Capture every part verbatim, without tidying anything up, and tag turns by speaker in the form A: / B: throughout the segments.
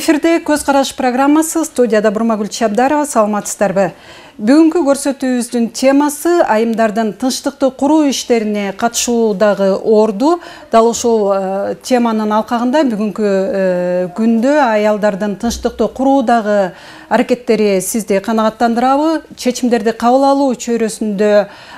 A: Эфирде Көз караш программасы, студияда Бурмагүл Чабдарова, саламатсыздарбы? Бүгүнкү көрсөтүүбүздүн темасы айымдардын тынчтыкты куруу иштерине катышуудагы орду. Дал ушул теманын алкагында бүгүнкү күндө аялдардын тынчтыкты куруудагы аракеттери сизди канагаттандырабы? Чечимдерди кабыл алуу чөйрөсүндө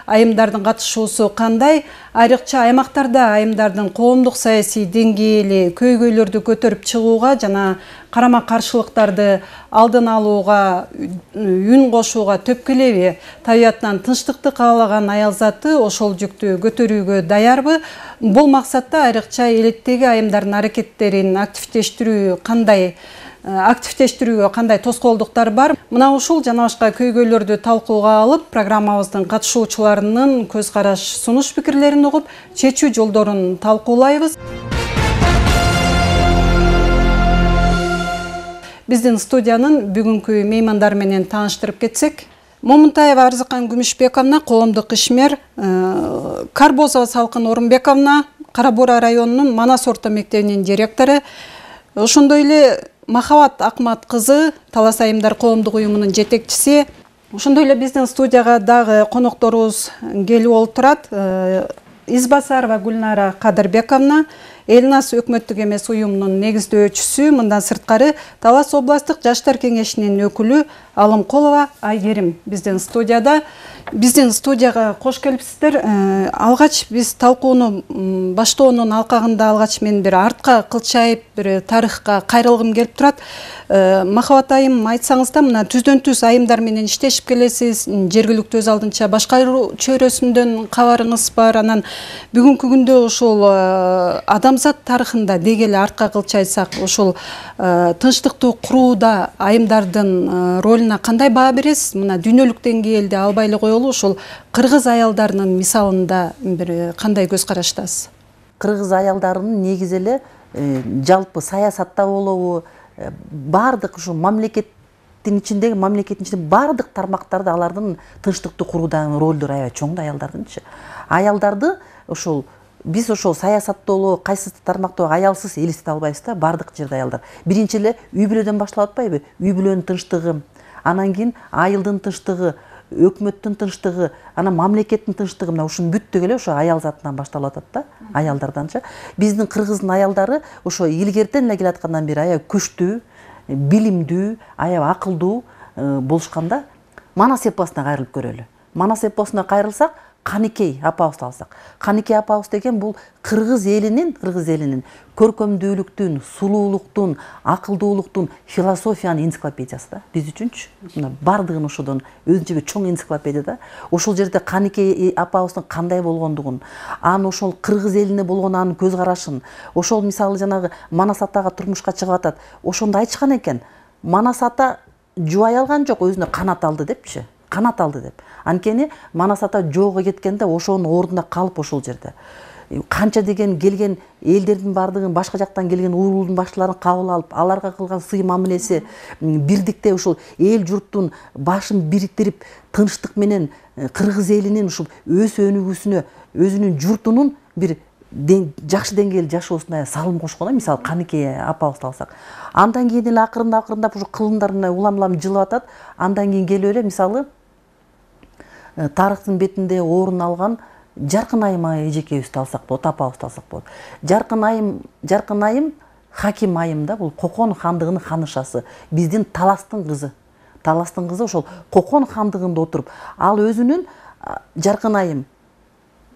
A: айымдардын катышуусу кандай? Айрыкча аймактарда айымдардын коомдук саясий деңгээли көйгөйлөрдү көтөрүп чыгууга жана карама каршылыктарды алдын алууга үн кошууга төпкүлеби? Табиятынан тынчтыкты каалаган аял заты ошол жүктү көтөрүүгө даярбы? Бул максатта айрыкча элеттеги айымдардын аракеттерин активдештирүү кандай активдештирүүгө кандай тоскоолдуктар бар? Мына ушул жана башка көйгөйлөрдү талкууга алып, программабыздын катышуучуларынын көз караш, сунуш пикирлерин угуп, чечүү жолдорун талкуулайбыз. Биздин студиянын бүгүнкү меймандары менен тааныштырып кетсек, Момунтаева Арзыкан Күмүшбековна, коомдук ишмер, Карбозова Салкын Орунбековна, Кара Буура районунун Манас орто мектебинин директору, ошондой эле Махабат Акмат кызы, Талас айымдар коомдук уюмунун жетекчиси. Ошондой эле биздин студияга дагы конокторубуз келип олтурат. Избасарова Гүлнара Кадырбековна, Элнас өкмөттүк эмес уюмунун негиздөөчүсү, мындан сырткары Талас областтык жаштар кеңешинин өкүлү Алымкулова Айгерим биздин студияда. Биздин студияга кош келипсиздер. Алгач биз талкууну баштоонун алкагында алгач мен бир артка кылчайып, бир тарыхка кайрылгым келип турат. Махабат айым, айтсаңыз да, мына түздөн түз айымдар менен иштешип келесиз, жергиликтүү өз алдынча башкаруу чөйрөсүндөн кабарыңыз бар. Анан бүгүнкү күндө ошол адамзат тарыхында дегеле артка кылчайсак, ошол тынчтыкты курууда айымдардын ролуна кандай баа бересиз? Мына дүйнөлүк деңгээлде албайлы коелу, ошол кыргыз аялдарынын мисалында бир кандай көз караштасыз?
B: Кыргыз аялдарынын негизи эле жалпы саясатта болобу, баардык ушу мамлекеттин ичиндеги мамлекеттин ичинде баардык тармактарда алардын тынчтыкты куруудагы ролдору аябай чоң да аялдардынчы. Аялдарды ошол биз ошол саясатта болобу, кайсы тармакта аялсыз элестете албайбыз да, баардык жерде аялдар. Биринчи эле үй бүлөдөн башталып атпайбы? Үй бүлөнүн тынчтыгы, анан кийин айылдын тынчтыгы, өкмөттүн тынчтыгы, анан мамлекеттин тынчтыгы, мына ушунун бүттүгү эле ошо аял затынан башталып атат да, аялдарданчы. Биздин кыргыздын аялдары ошо илгертен эле келаткандан бери аябай күчтүү, билимдүү, аябай акылдуу болушканда. Манас эпосуна кайрылып көрөлү. Манас эпосуна кайрылсак, Каникей апабызды алсак. Каникей апабыз деген бул кыргыз элинин, кыргыз элинин көркөмдүүлүктүн, сулуулуктун, акылдуулуктун, философиянын энциклопедиясы да. Биз үчүнчү. Мына бардыгын ошодон өзүнчө бир чоң энциклопедия да. Ошол жерде Каникей апабыздын кандай болгондугун, анын ошол кыргыз элине болгон анын көз карашын, ошол мисалы жанагы Манас атага турмушка чыгып атат. Ошондо айтышкан экен, Манас ата жубай алган жок, өзүнө канат алды депчи. Канат алды деп. Анткени Манас ата жоого кеткенде ошонун ордуна калып ошол жерде. Канча деген келген элдердин бардыгын, башка жактан келген уруулдун башчыларын кабыл алып, аларга кылган сый мамилеси, бирдикте ошол эл журттун башын бириктирип, тынчтык менен кыргыз элинин ушул өз өнүгүүсүнө, өзүнүн журтунун бир жакшы деңгээлде жашоосуна салым кошкон, мисалы Каникей апабызды алсак. Андан кийин эле акырындап акырындап ушул кылымдарына улам-улам жылып атат. Андан кийин келип эле мисалы тарыхтын бетинде орун алган Жаркын айым эжекебизди алсак болот, апабызды алсак болот. Жаркын айым, Жаркын айым Хаким айым да, бул Кокон хандыгынын ханышасы. Биздин Таластын кызы. Таластын кызы ошол Кокон хандыгында отуруп, ал өзүнүн Жаркын айым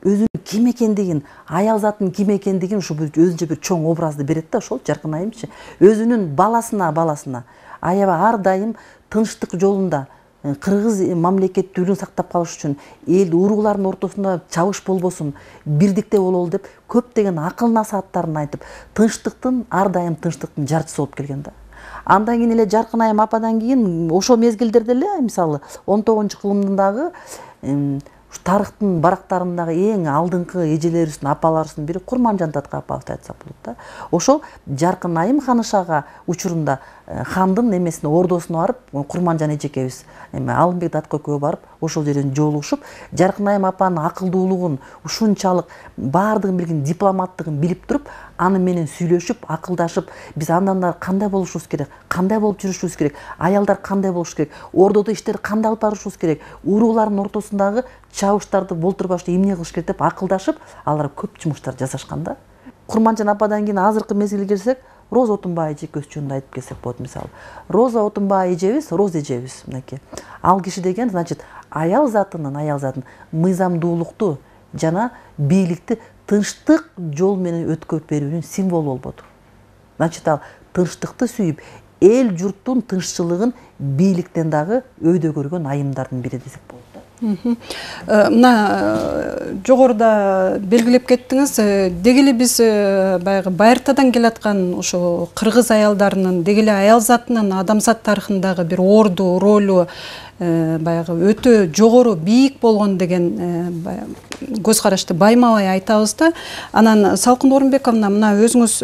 B: өзүнүн ким экендигин, аял затын ким экендигин ушу өзүнчө бир чоң образды берет да, ошол Жаркын айымчы. Өзүнүн баласына, баласына аябай ар дайым тынчтык жолунда кыргыз мамлекеттүүлүгүн сактап калыш үчүн, эл уруулардын ортосунда чабыш болбосун, бирдикте бололу деп көптөгөн акыл насааттарын айтып, тынчтыктын ар дайым тынчтыктын жарчысы болуп келген да. Андан кийин эле Жаркын айым ападан кийин ошол мезгилдерде эле мисалы он тогузунчу кылымдагы тарыхтын барактарындагы эң алдыңкы эжелерибиздин, апаларыбыздын бири Курманжан Татка апабызды айтсак болот да. Ошол Жаркын айым ханышага учурунда хандын эмесине, ордосуна барып, Курманжан эжекебиз эме Алымбек Татка экөө барып, ошол жерден жолугушуп, Жаркын айым апанын акылдуулугун, ушунчалык баардыгын билген дипломаттыгын билип туруп, аны менен сүйлөшүп, акылдашып, биз андан да кандай болушубуз керек, кандай болуп жүрүшүбүз керек, аялдар кандай болуш керек, ордодо иштерди кандай алып барышыбыз керек, уруулардын ортосундагы чабыштарды болтурбашты эмне кылыш керек деп акылдашып, алар көп жумуштар жасашкан да. Курманжан ападан кийин азыркы мезгилге келсек, Роза Отунбай эже экөөбүз жөнүндө айтып кетсек болот. Мисалы, Роза Отунбай эжебиз, Роза эжебиз мынакей. Ал киши деген, значит, аял затынын, аял затын мыйзамдуулукту жана бийликти тынчтык жол менен өткөрүп берүүнүн символу болбоду. Значит, ал тынчтыкты сүйүп, эл журттун тынччылыгын бийликтен дагы өйдө көргөн айымдардын бири десек болот.
A: Мына жогоруда белгилеп кеттиңиз, деги эле биз баягы байыртадан келаткан ошо кыргыз аялдарынын, деги эле аял затынын адамзат тарыхындагы бир орду, ролу баягы өтө жогору, бийик болгон деген көз карашты байма-бай айтабыз да. Анан Салкын Орунбековна, мына өзүңүз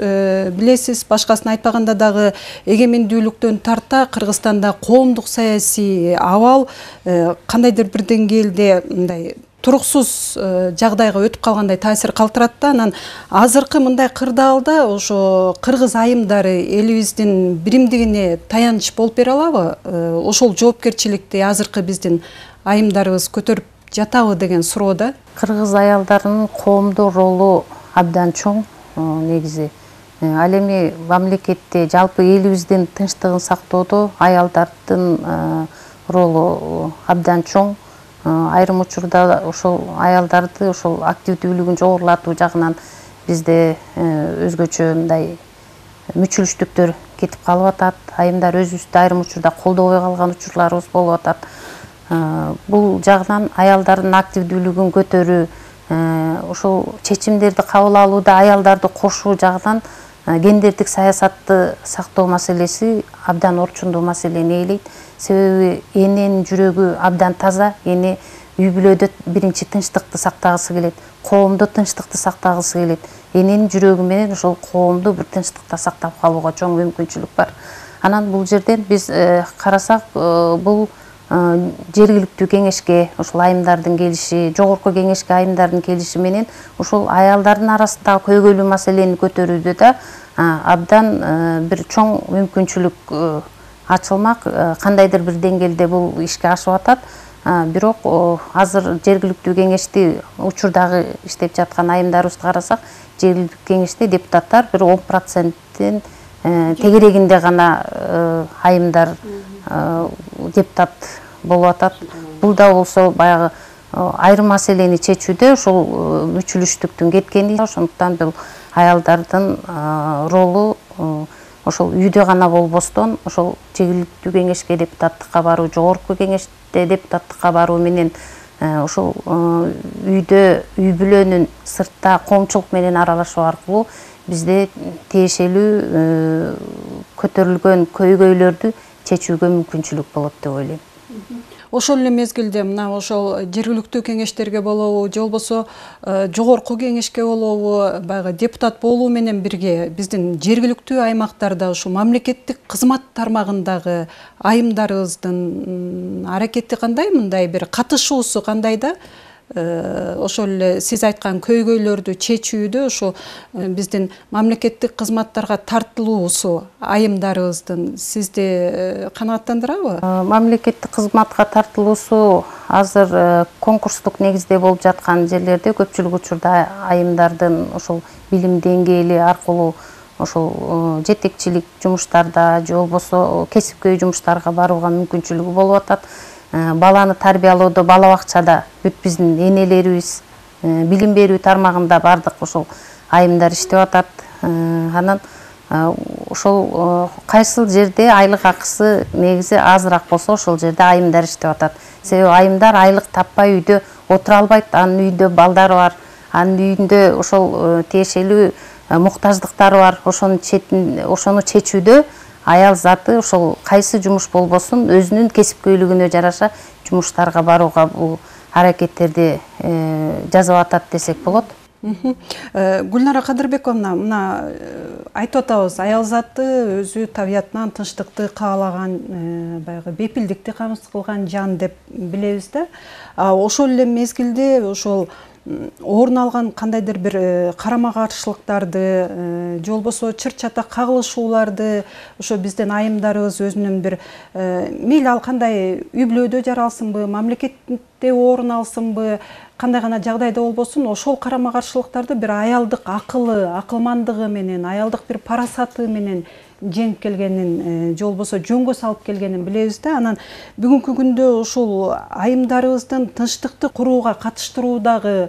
A: билесиз, башкасын айтпаганда дагы эгемендүүлүктөн тарта Кыргызстанда коомдук саясий абал кандайдыр бир деңгээлде мындай туруксуз жагдайга өтүп калгандай таасир калтырат да. Анан азыркы мындай кырдаалда ошо кыргыз айымдары элибиздин биримдигине таяныч болуп бере алабы? Ошол жоопкерчиликти азыркы биздин айымдарыбыз көтөрүп жатабы деген суроо да.
C: Кыргыз аялдарынын коомдо ролу абдан чоң негизи. Ал эми мамлекетте жалпы элибиздин тынчтыгын сактоодо аялдардын ролу абдан чоң. Айрым учурда ошол аялдарды ошол активдүүлүгүн жогорулатуу жагынан бизде өзгөчө мындай мүчүлүштүктөр кетип калып атат. Айымдар өзүбүздү айрым учурда колдобой калган учурларыбыз болуп атат. Бул жагынан аялдардын активдүүлүгүн көтөрүү, ошол чечимдерди кабыл алууда аялдарды кошуу жагынан гендердик саясатты сактоо маселеси абдан орчундуу маселени ээлейт. Себеби эненин жүрөгү абдан таза, эне үй бүлөдө биринчи тынчтыкты сактагысы келет, коомдо тынчтыкты сактагысы келет. Эненин жүрөгү менен ошол коомду бир тынчтыкта сактап калууга чоң мүмкүнчүлүк бар. Анан бул жерден биз карасак, бул жергиликтүү кеңешке ошол айымдардын келиши, жогорку кеңешке айымдардын келиши менен ошол аялдардын арасындагы көйгөйлүү маселени көтөрүүдө да абдан бир чоң мүмкүнчүлүк ачылмак. Кандайдыр бир деңгээлде бул ишке ашып атат. Бирок азыр жергиликтүү кеңешти, учурдагы иштеп жаткан айымдарыбызды карасак, жергиликтүү кеңеште депутаттар бир он проценттин тегерегинде гана айымдар депутат болуп атат. Бул да болсо баягы айрым маселени чечүүдө ошол мүчүлүштүктүн кеткени. Ошондуктан бул аялдардын ролу ошол үйдө гана болбостон, ошол жергиликтүү кеңешке депутаттыкка баруу, жогорку кеңеште депутаттыкка баруу менен ошол үйдө, үй бүлөнүн сыртта коомчулук менен аралашуу аркылуу бизде тиешелүү көтөрүлгөн көйгөйлөрдү чечүүгө мүмкүнчүлүк болот деп ойлойм.
A: Ошол эле мезгилде мына ошол жергиликтүү кеңештерге болобу, же болбосо жогорку кеңешке болобу, баягы депутат болуу менен бирге биздин жергиликтүү аймактарда ушул мамлекеттик кызмат тармагындагы айымдарыбыздын аракети кандай, мындай бир катышуусу кандай да? Ошол эле сиз айткан көйгөйлөрдү чечүүдө ошо биздин мамлекеттик кызматтарга тартылуусу айымдарыбыздын сизди канааттандырабы?
C: Мамлекеттик кызматка тартылуусу азыр конкурстук негизде болуп жаткан жерлерде көпчүлүк учурда айымдардын ошол билим деңгээли аркылуу ошол жетекчилик жумуштарда же болбосо кесипкөй жумуштарга барууга мүмкүнчүлүгү болуп атат. Баланы тарбиялоодо бала бакчада бүт биздин энелерибиз, билим берүү тармагында бардык ошол айымдар иштеп атат. Анан ошол кайсыл жерде айлык акысы негизи азыраак болсо ошол жерде айымдар иштеп атат. Себеби айымдар айлык таппай үйдө отура албайт. Анын үйдө балдары бар, анын үйүндө ошол тиешелүү муктаждыктары бар. Ошону ошону чечүүдө аял заты ошол кайсы жумуш болбосун өзүнүн кесипкөйлүгүнө жараша жумуштарга барууга бул аракеттерди жасап атат десек болот.
A: Гүлнара Кадырбековна, мына айтып атабыз, аял заты өзү табиятынан тынчтыкты каалаган, баягы бепилдикти камсыз кылган жан деп билебиз да. Ошол эле мезгилде ошол орун алган кандайдыр бир карама каршылыктарды же болбосо чыр чатак кагылышууларды ошо биздин айымдарыбыз өзүнүн бир мейли ал кандай үй бүлөдө жаралсынбы, мамлекетте орун алсынбы, кандай гана жагдайда болбосун, ошол карама каршылыктарды бир аялдык акылы, акылмандыгы менен, аялдык бир парасаты менен жеңип келгенин же болбосо жөнгө салып келгенин билебиз да. Анан бүгүнкү күндө ушул айымдарыбыздын тынчтыкты курууга катыштыруудагы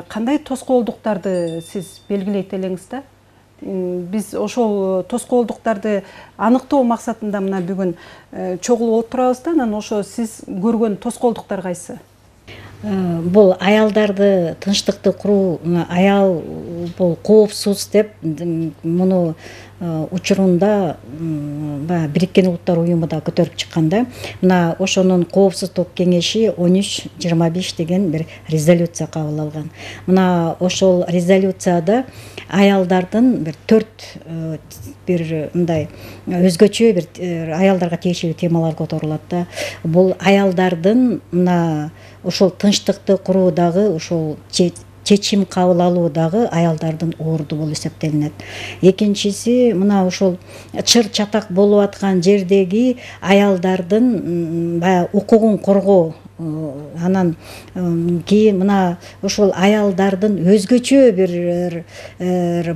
A: кандай тоскоолдуктарды сиз белгилейт элеңиз да? Биз ошол тоскоолдуктарды аныктоо максатында мына бүгүн чогулуп отурабыз да. Анан ошо сиз көргөн тоскоолдуктар кайсы?
D: Бул аялдарды тынчтыкты куруу, аял бул коопсуз деп муну учурунда баягы Бириккен Улуттар уюму да көтөрүп чыкканда, мына ошонун коопсуздук кеңеши он үч жыйырма беш деген бир резолюция кабыл алган. Мына ошол резолюцияда аялдардын бир төрт бир мындай өзгөчө бир аялдарга тиешелүү темалар которулат да. Бул аялдардын мына ошол тынчтыкты куруудагы ошол чечим кабыл алуудагы аялдардын орду болуп эсептелинет. Экинчиси мына ошол чыр чатак болуп аткан жердеги аялдардын баягы укугун коргоо, анан кийин мына ошол аялдардын өзгөчө бир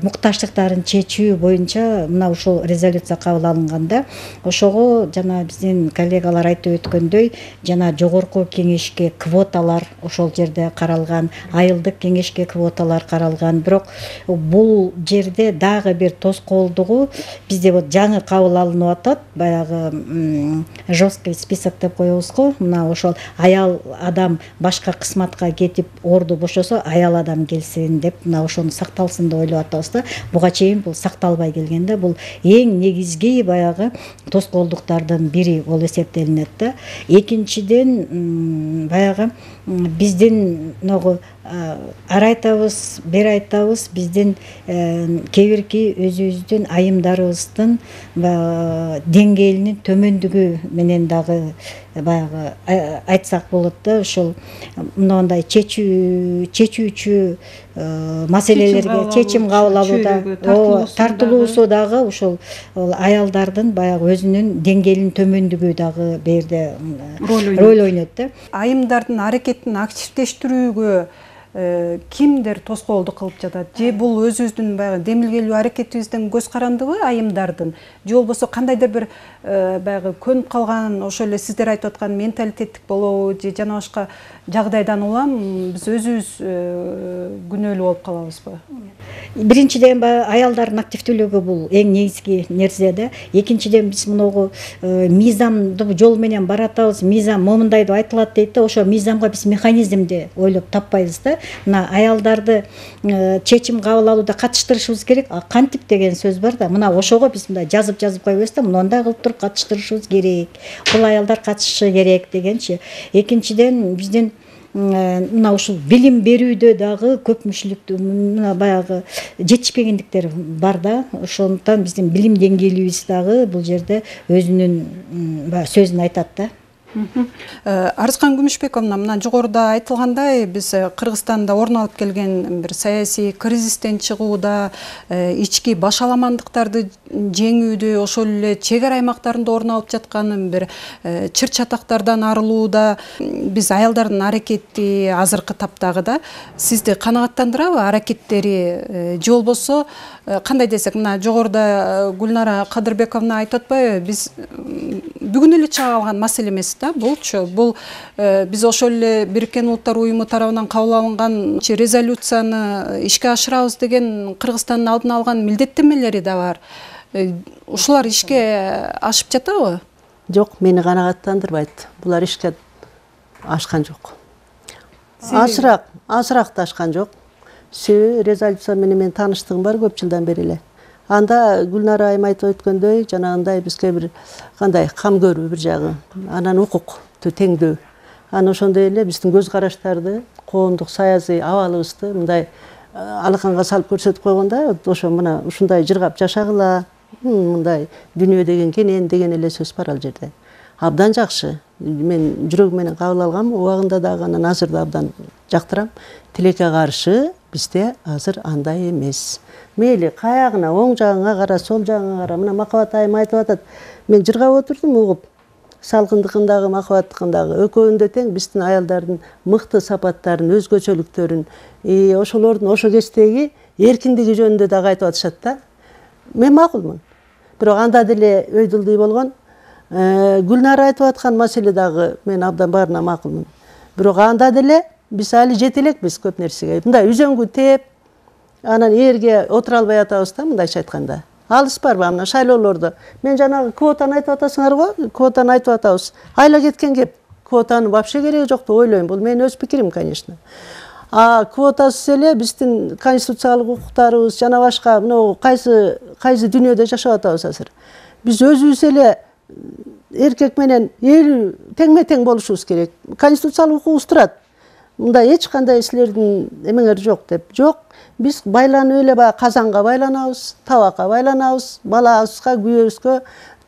D: муктаждыктарын чечүү боюнча мына ушул резолюция кабыл алынганда, ошого жана биздин коллегалар айтып өткөндөй, жана жогорку кеңешке квоталар ошол жерде каралган, айылдык кеңешке квоталар каралган. Бирок бул жерде дагы бир тоскоолдугу бизде вот жаңы кабыл алынып атат, баягы жесткий список деп коебуз го. Мына ошол аял адам башка кызматка кетип орду бошосо аял адам келсин деп мына ошону сакталсын деп ойлоп атабыз да. Буга чейин бул сакталбай келген да. Бул эң негизги баягы тоскоолдуктардын бири болуп эсептелинет да. Экинчиден баягы биздин могу ар айтабыз, бер айтабыз, биздин кээ бирки өзүбүздүн айымдарыбыздын деңгээлинин төмөндүгү менен дагы баягы айтсак болот да. Ошол мындай чечүү чечүүчү маселелерге чечим кабыл алууда тартылуусу дагы ошол аялдардын баягы өзүнүн деңгээлинин төмөндүгү дагы бул жерде роль ойнойт да.
A: Айымдардын аракетин активдештирүүгө кимдер тоскоолдук кылып жатат? Же бул өзүбүздүн баягы демилгелүү аракетибизден көз карандыбы айымдардын? Же болбосо кандайдыр бир баягы көнүп калган, ошол эле сиздер айтып аткан менталитеттик болобу, же жана башка жагдайдан улам биз өзүбүз күнөөлүү болуп калабызбы?
D: Биринчиден баягы аялдардын активдүүлүгү бул эң негизги нерсе да. Экинчиден биз мунугу мыйзамдуу жол менен баратабыз, мыйзам момундай деп айтылат дейт да. Ошо мыйзамга биз механизмди ойлоп таппайбыз да. Мына аялдарды чечим кабыл алууда катыштырышыбыз керек. Кантип деген сөз бар да. Мына ошого биз мындай жазып-жазып койбойбуз да. Мындай кылып туруп катыштырышыбыз керек. Бул аялдар катышышы керек дегенчи. Экинчиден биздин мына ушул билим берүүдө дагы көпмүчүлүктүү мына баягы жетишпегендиктер бар да. Ошондуктан биздин билим деңгээлибиз дагы бул жерде өзүнүн сөзүн айтат да.
A: Арызкан Күмүшбековна, мына жогоруда айтылгандай, биз Кыргызстанда орун алып келген бир саясий кризистен чыгууда, ички башаламандыктарды жеңүүдө, ошол эле чек ара аймактарында орун алып жаткан бир чыр чатактардан арылууда биз аялдардын аракети азыркы таптагы да сизди канааттандырабы аракеттери? Же болбосо кандай десек, мына жогоруда Гүлнара Кадырбековна айтып атпайбы, биз бүгүн эле чыга алган маселе эмес да булчу. Бул биз ошол эле Бириккен Улуттар уюму тарабынан кабыл алынган резолюцияны ишке ашырабыз деген Кыргызстандын алдына алган милдеттенмелери да бар. Ушулар ишке ашып жатабы?
E: Жок, мени канааттандырбайт. Булар ишке ашкан жок. Азыраак, азыраак да ашкан жок. Себеби резолюция менен мен тааныштыгым бар көп жылдан бери эле. Анда Гүлнара айым айтып өткөндөй, жанагындай бизге бир кандай кам көрүү бир жагы, анан укукту теңдөө. Анан ошондой эле биздин көз караштарды, коомдук саясий абалыбызды мындай алаканга салып көрсөтүп койгондо, ошо мына ушундай жыргап жашагыла, мындай дүйнө деген кенен деген эле сөз бар ал жерде. Абдан жакшы. мен жүрөгүм менен кабыл алгам, убагында дагы анан азыр да абдан жактырам. Тилекке каршы бизде азыр андай эмес. Мейли каягына, оң жагыңа кара, сол жагыңа кара. Мына Махабат айым айтып атат. Мен жыргап отурдум угуп. Салкындыкындагы, махабаттыкындагы экөөндө тең биздин аялдардын мыкты сапаттарын, өзгөчөлүктөрүн, ошолордун ошо кездеги эркиндиги жөнүндө дагы айтып атышат да. Мен макулмун. Бирок анда деле өйдүлдүй болгон. Гүлнара айтып аткан маселе дагы мен абдан баарына макулмун. Бирок анда деле биз али жете элекпиз көп нерсеге. Мындай үзөңгү тээп, анан эрге отура албай атабыз да, мындайча айтканда. Алыс барбы мына шайлоолордо. Мен жанагы квотаны айтып атасыңар го, квотаны айтып атабыз. Айла кеткен кеп. Квотанын вообще кереги жок деп ойлойм. Бул менин өз пикирим, конечно. А квотасыз эле биздин конституциялык укуктарыбыз жана башка мына кайсы кайсы дүйнөдө жашап атабыз азыр. Биз өзүбүз эле эркек менен эл теңме тең болушубуз керек. Конституциялык укугубуз турат. Мындай эч кандай силердин эмеңер жок деп. Жок. Биз байланып эле баягы казанга байланабыз, табакка байланабыз, балабызга, күйөөбүзгө,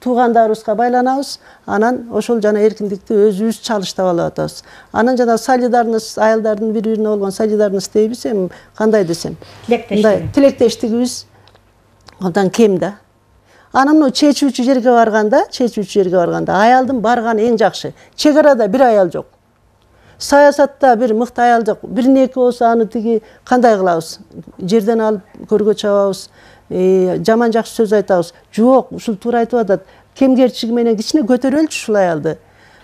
E: туугандарыбызга байланабыз. Анан ошол жана эркиндикти өзүбүз чалыштап алып атабыз. Анан жана солидарность, аялдардын бири-бирине болгон солидарность дейбиз, эми кандай десем, мындай тилектештигибиз андан кем да. Анан мына чечүүчү жерге барганда, чечүүчү жерге барганда аялдын барганы эң жакшы. Чек арада бир аял жок. Саясатта бир мыкты аял жок. Бирин эки болсо аны тиги кандай кылабыз? Жерден алып көргө чабабыз, жаман жакшы сөз айтабыз. Жок, ушул туура айтып атат. Кемгерчилиги менен кичине көтөрөлчү ушул аялды.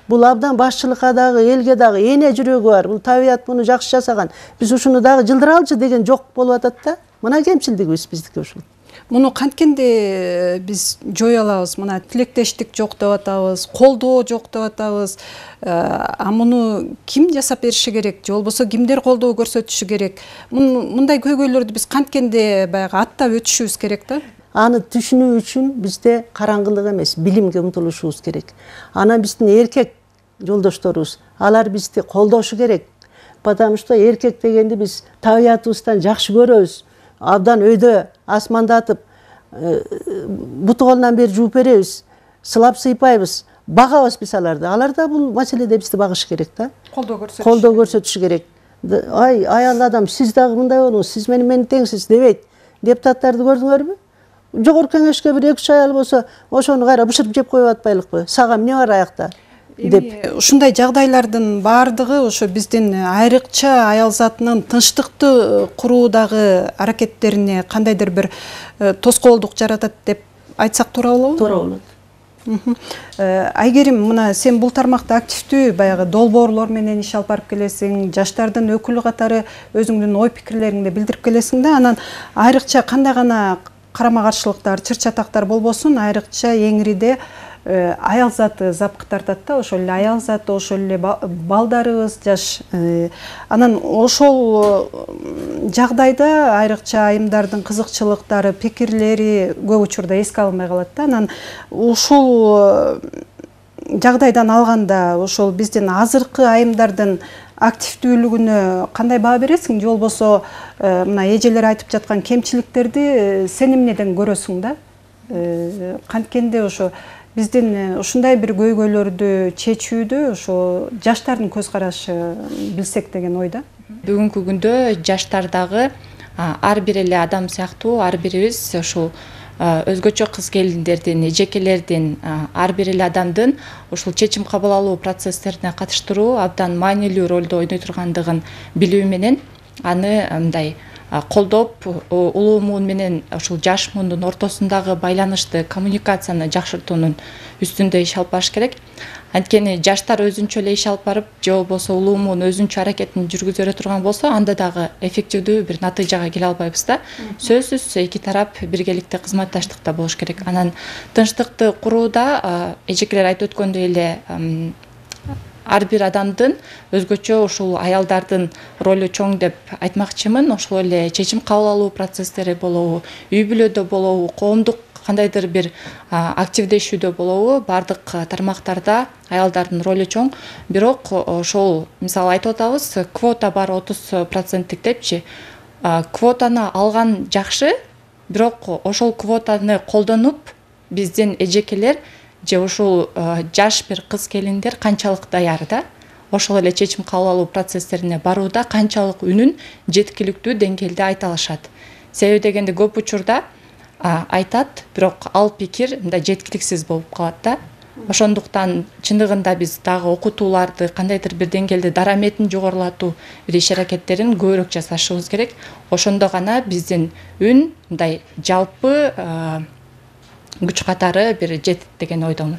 E: Бул абдан башчылыкка дагы, элге дагы эне жүрөгү бар. Бул табият муну жакшы жасаган. Биз ушуну дагы жылдыралчы деген жок болуп атат да. Мына кемчилдигибиз биздики ушул.
A: Муну канткенде биз жое алабыз? Мына тилектештик жок деп атабыз, колдоо жок деп атабыз. А муну ким жасап бериши керек? Же болбосо кимдер колдоо көрсөтүшү керек? Мындай көйгөйлөрдү биз канткенде баягы аттап өтүшүбүз керек да.
E: Аны түшүнүү үчүн бизде караңгылык эмес, билимге умтулушубуз керек. Анан биздин эркек жолдошторубуз, алар бизди колдошу керек. Потому что эркек дегенди биз табиятыбыздан жакшы көрөбүз. Абдан өйдө асмандатып, буту колунан бери жууп беребиз, сылап сыйпайбыз, багабыз биз аларды. Алар да бул маселеде бизди багышы керек да.
A: Колдоо көрсөтүшү.
E: Колдоо көрсөтүшү керек. Ай, аял адам, сиз дагы мындай болуңуз, сиз менен мен теңсиз дебейт. Депутаттарды көрдүңөрбү? Жогорку кеңешке бир эки үч аял болсо, ошону кайра бышырып жеп коюп атпайлыкпы? Сага эмне бар аякта?
A: Эми ушундай жагдайлардын баардыгы ошо биздин айрыкча аял затынын тынчтыкты куруудагы аракеттерине кандайдыр бир тоскоолдук жаратат деп айтсак туура болобу?
E: Туура болот.
A: Айгерим, мына сен бул тармакта активдүү баягы долбоорлор менен иш алып барып келесиң, жаштардын өкүлү катары өзүңдүн ой пикирлериңди билдирип келесиң да. Анан айрыкча кандай гана карама каршылыктар, чыр чатактар болбосун, айрыкча эңириде аял заты запкы тартат да, ошол эле аял заты, ошол эле балдарыбыз, жаш. Анан ошол жагдайда айрыкча айымдардын кызыкчылыктары, пикирлери көп учурда эске алынбай калат да. Анан ушул жагдайдан алганда ошол биздин азыркы айымдардын активдүүлүгүнө кандай баа бересиң? Же болбосо мына эжелер айтып жаткан кемчиликтерди сен эмнеден көрөсүң да? Канткенде ошо биздин ушундай бир көйгөйлөрдү чечүүдө ошо жаштардын көз карашы билсек деген ойда.
F: Бүгүнкү күндө жаштар дагы ар бир эле адам сыяктуу, ар бирибиз ушул өзгөчө кыз келиндердин, эжекелердин, ар бир эле адамдын ушул чечим кабыл алуу процесстерине катыштыруу абдан маанилүү ролду ойной тургандыгын билүү менен аны мындай колдоп, улуу муун менен ушул жаш муундун ортосундагы байланышты, коммуникацияны жакшыртуунун үстүндө иш алып барыш керек. Анткени жаштар өзүнчө эле иш алып барып, же болбосо улуу муун өзүнчө аракетин жүргүзө бере турган болсо, анда дагы эффективдүү бир натыйжага келе албайбыз да. Сөзсүз эки тарап биргеликте кызматташтыкта болуш керек. Анан тынчтыкты курууда эжекелер айтып өткөндөй эле ар бир адамдын өзгөчө ушул аялдардын ролу чоң деп айтмакчымын. Ошол эле чечим кабыл алуу процесстери болобу, үй бүлөдө болобу, коомдук кандайдыр бир активдешүүдө болобу, бардык тармактарда аялдардын ролу чоң. Бирок ошол мисалы айтып атабыз, квота бар отуз проценттик депчи. Квотаны алган жакшы, бирок ошол квотаны колдонуп биздин эжекелер же ушул жаш бир кыз келиндер канчалык даяр да, ошол эле чечим кабыл алуу процесстерине барууда канчалык үнүн жеткиликтүү деңгээлде айта алышат. Себеби дегенде көп учурда айтат, бирок ал пикир мындай жеткиликсиз болуп калат да. Ошондуктан чындыгында биз дагы окутууларды кандайдыр бир деңгээлде дараметин жогорулатуу бир иш аракеттерин көбүрөөк жасашыбыз керек. Ошондо гана биздин үн мындай жалпы күч катары бир жетет деген ойдомун.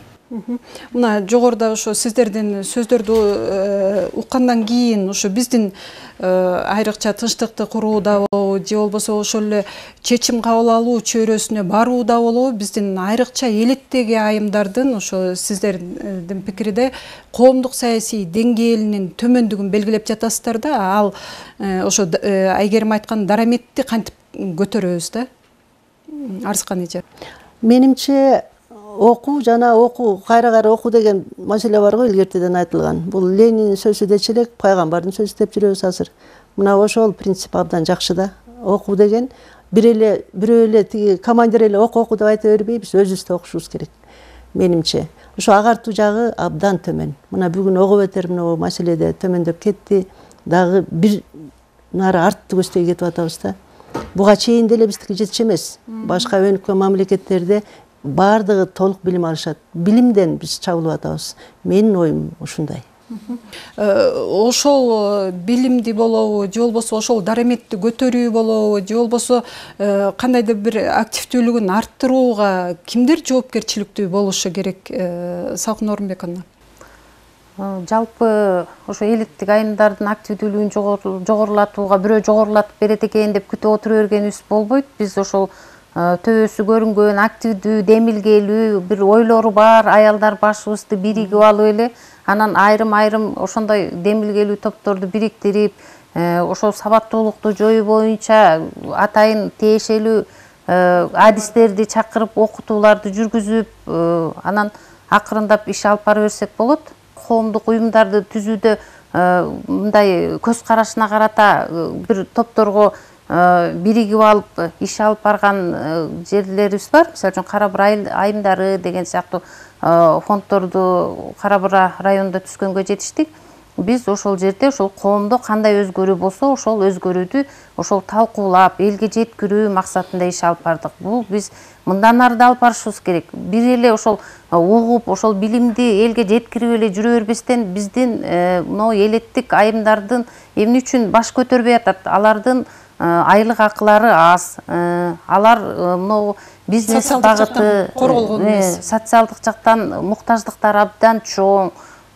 A: Мына жогоруда ошо сиздердин сөздөрдү уккандан кийин ошо биздин айрыкча тынчтыкты курууда болобу же болбосо ошол эле чечим кабыл алуу чөйрөсүнө барууда болобу биздин айрыкча элеттеги айымдардын ошо сиздердин пикирде коомдук саясий деңгээлинин төмөндүгүн белгилеп жатасыздар да, ал ошо Айгерим айткан дараметти кантип көтөрөбүз да? Арзыкан эже.
E: Менимче окуу жана окуу кайра кайра окуу деген маселе бар го, илгертеден айтылган. Бул Ленин сөзү дечи элек, пайгамбардын сөзү деп жүрөбүз азыр. Мына ошол принцип абдан жакшы да. Окуу деген бир эле бирөө эле тиги командир эле окуу окуу деп айта бербейбиз, өзүбүз да окушубуз керек. Менимче ошо агартуу жагы абдан төмөн. Мына бүгүн ого бетер мына маселеде төмөндөп кетти. Дагы бир нары артты көздөй кетип атабыз да. Буга чейин деле биздики жетчү эмес. Башка өнүккөн мамлекеттерде бардыгы толук билим алышат. Билимден биз чабылып атабыз. Менин оюм ушундай.
A: Ошол билимди болобу, же болбосо ошол дараметти көтөрүү болобу, же болбосо кандайдыр бир активдүүлүгүн арттырууга кимдер жоопкерчиликтүү болушу керек, Салкын Орунбековна?
C: Жалпы ошо элеттик айымдардын активдүүлүгүн жогорулатууга бирөө жогорулатып берет экен деп күтүп отура бергенибиз болбойт. Биз ошол төбөсү көрүнгөн, активдүү, демилгелүү, бир ойлору бар аялдар башыбызды биригип алып эле, анан айрым-айрым ошондой демилгелүү топторду бириктирип, ошол сабаттуулукту жоюу боюнча атайын тиешелүү адистерди чакырып, окутууларды жүргүзүп, анан акырындап иш алып бара берсек болот. Коомдук уюмдарды түзүүдө мындай көз карашына карата бир топторго биригип алып иш алып барган жерлерибиз бар. Мисалы үчүн Кара Бура айымдары деген сыяктуу фонддорду Кара Бура районунда түзгөнгө жетиштик. Биз ошол жерде ошол коомдо кандай өзгөрүү болсо, ошол өзгөрүүдү ошол талкуулап, элге жеткирүү максатында иш алып бардык. Бул биз мындан ары да алып барышыбыз керек. Бир эле ошол угуп, ошол билимди элге жеткирип эле жүрө бербестен биздин мына элеттик айымдардын эмне үчүн баш көтөрбөй атат? Алардын айлык акылары аз. Алар мына бизнес багыты,
A: корголгон эмес.
C: Социалдык жактан муктаждыктары абдан чоң.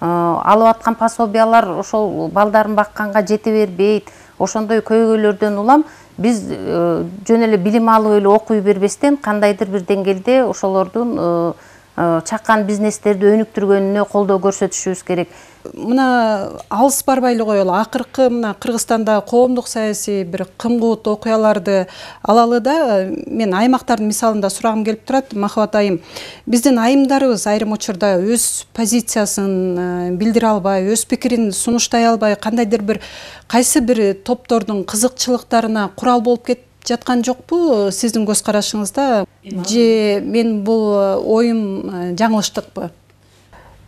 C: Алып аткан пособиялар ошол балдарын бакканга жете бербейт. Ошондой көйгөйлөрдөн улам биз жөн эле билим алып эле окуй бербестен кандайдыр бир деңгээлде ошолордун чакан бизнестерди өнүктүргөнүнө колдоо көрсөтүшүбүз керек.
A: Мына алыс барбай эле коелу. Акыркы мына Кыргызстанда коомдук саясий бир кымгуут окуяларды алалы да, мен аймактардын мисалында сурагым келип турат. Махабат айым, биздин айымдарыбыз айрым учурда өз позициясын билдире албай, өз пикирин сунуштай албай, кандайдыр бир кайсы бир топтордун кызыкчылыктарына курал болуп кетип жаткан жокпу сиздин көз карашыңызда? Же мен бул оюм жаңылыштыкпы?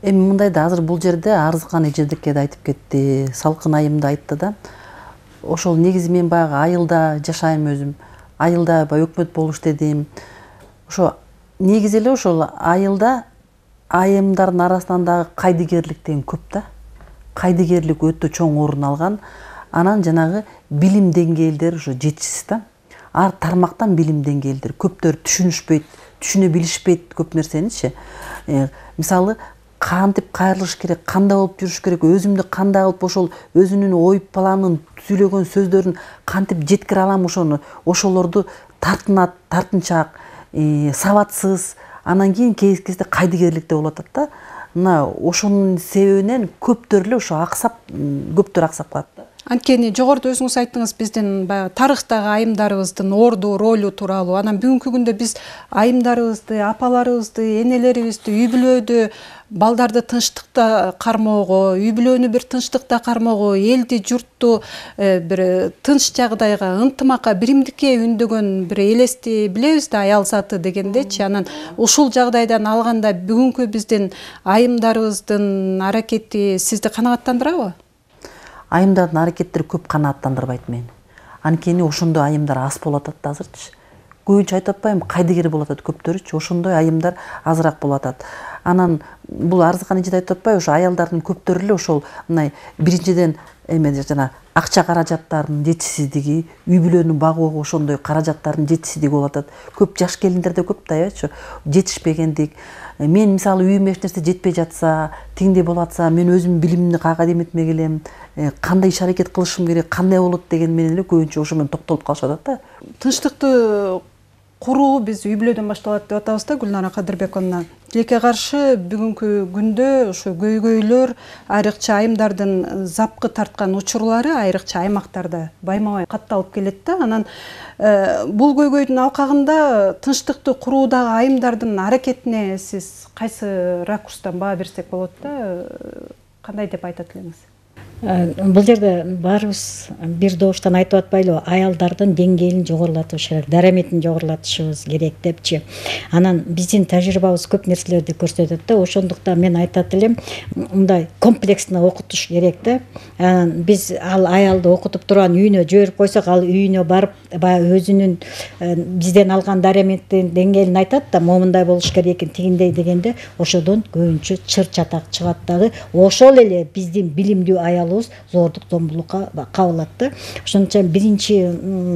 B: Эми мындай да, азыр бул жерде Арзыкан эжедикке да айтып кетти, Салкын айым да айтты да. Ошол негизи мен баягы айылда жашайм өзүм. Айылда баягы өкмөт болуш дедим. Ошо негизи эле ошол айылда айымдардын арасынан дагы кайдыгерлик деген көп да. Кайдыгерлик өтө чоң орун алган. Анан жанагы билим деңгээлдери ошо жетишсиз да. Ар тармактан билим деңгээлдери көптөр түшүнүшпөйт, түшүнө билишпейт көп нерсеничи. Мисалы кантип кайрылыш керек, кандай болуп жүрүш керек, өзүмдү кандай кылып ошол өзүнүн ой планын, сүйлөгөн сөздөрүн кантип жеткире алам, ошону ошолорду тартынат, тартынчаак, сабатсыз, анан кийин кез кезде кайдыгерликте болуп атат да. Мына ошонун себебинен көптөр эле ошо аксап, көптөр аксап калат да.
A: Анткени жогоруда өзүңүз айттыңыз, биздин баягы тарыхтагы айымдарыбыздын орду, ролу тууралуу. Анан бүгүнкү күндө биз айымдарыбызды, апаларыбызды, энелерибизди үй бүлөдө балдарды тынчтыкта кармоого, үй бүлөнү бир тынчтыкта кармоого, элди, журтту бир тынч жагдайга, ынтымакка, биримдикке үндөгөн бир элести билебиз да, аял заты дегендечи. Анан ушул жагдайдан алганда бүгүнкү биздин айымдарыбыздын аракети сизди канааттандырабы?
B: Айымдардын аракеттери көп канааттандырбайт мени. Анткени ошондой айымдар аз болуп атат азырчы. Көбүнчө айтып атпаймынбы, кайдыгер болуп атат көптөрүчү, ошондой айымдар азыраак болуп атат. Анан бул арзыкан эже айтып атпайбы, ошо аялдардын көптөрү эле ошол мындай биринчиден эме жана акча каражаттарынын жетишсиздиги, үй бүлөнү багууга ошондой каражаттардын жетишсиздиги болуп атат. Көп жаш келиндерде көп да, ачы, жетишпегендик. Мен мисалы үйүмө эч нерсе жетпей жатса, тиңдей болуп атса, мен өзүмдүн билимимди каяка деметмек элем, кандай иш аракет кылышым керек, кандай болот деген менен эле көбүнчө ошо менен токтолуп калышып атат да.
A: Тынчтыкты куруу биз үй бүлөдөн башталат деп атабыз да, Гүлнара Кадырбековна. Тилекке каршы бүгүнкү күндө ошо көйгөйлөр, айрыкча айымдардын запкы тарткан учурлары айрыкча аймактарда байма-бай катталып келет да. Анан бул көйгөйдүн алкагында тынчтыкты куруудагы айымдардын аракетине сиз кайсы ракурстан баа берсек болот да, кандай деп айтат элеңиз?
D: Бул жерде баарыбыз бир добуштан айтып атпайлыбы, аялдардын деңгээлин жогорулатыш керек, дараметин жогорулатышыбыз керек депчи. Анан биздин тажрыйбабыз көп нерселерди көрсөтөт да, ошондуктан мен айтат элем, мындай комплексно окутуш керек да. Анан биз ал аялды окутуп турган үйүнө жиберип койсок, ал үйүнө барып, баягы өзүнүн бизден алган дараметтин деңгээлин айтат да, момундай болуш керек экен, тигиндей дегенде, ошодон көбүнчө чыр чатак чыгат дагы. Ошол эле биздин билимдүү аял зордук, зомбулукка кабылат да. Ошон үчүн биринчи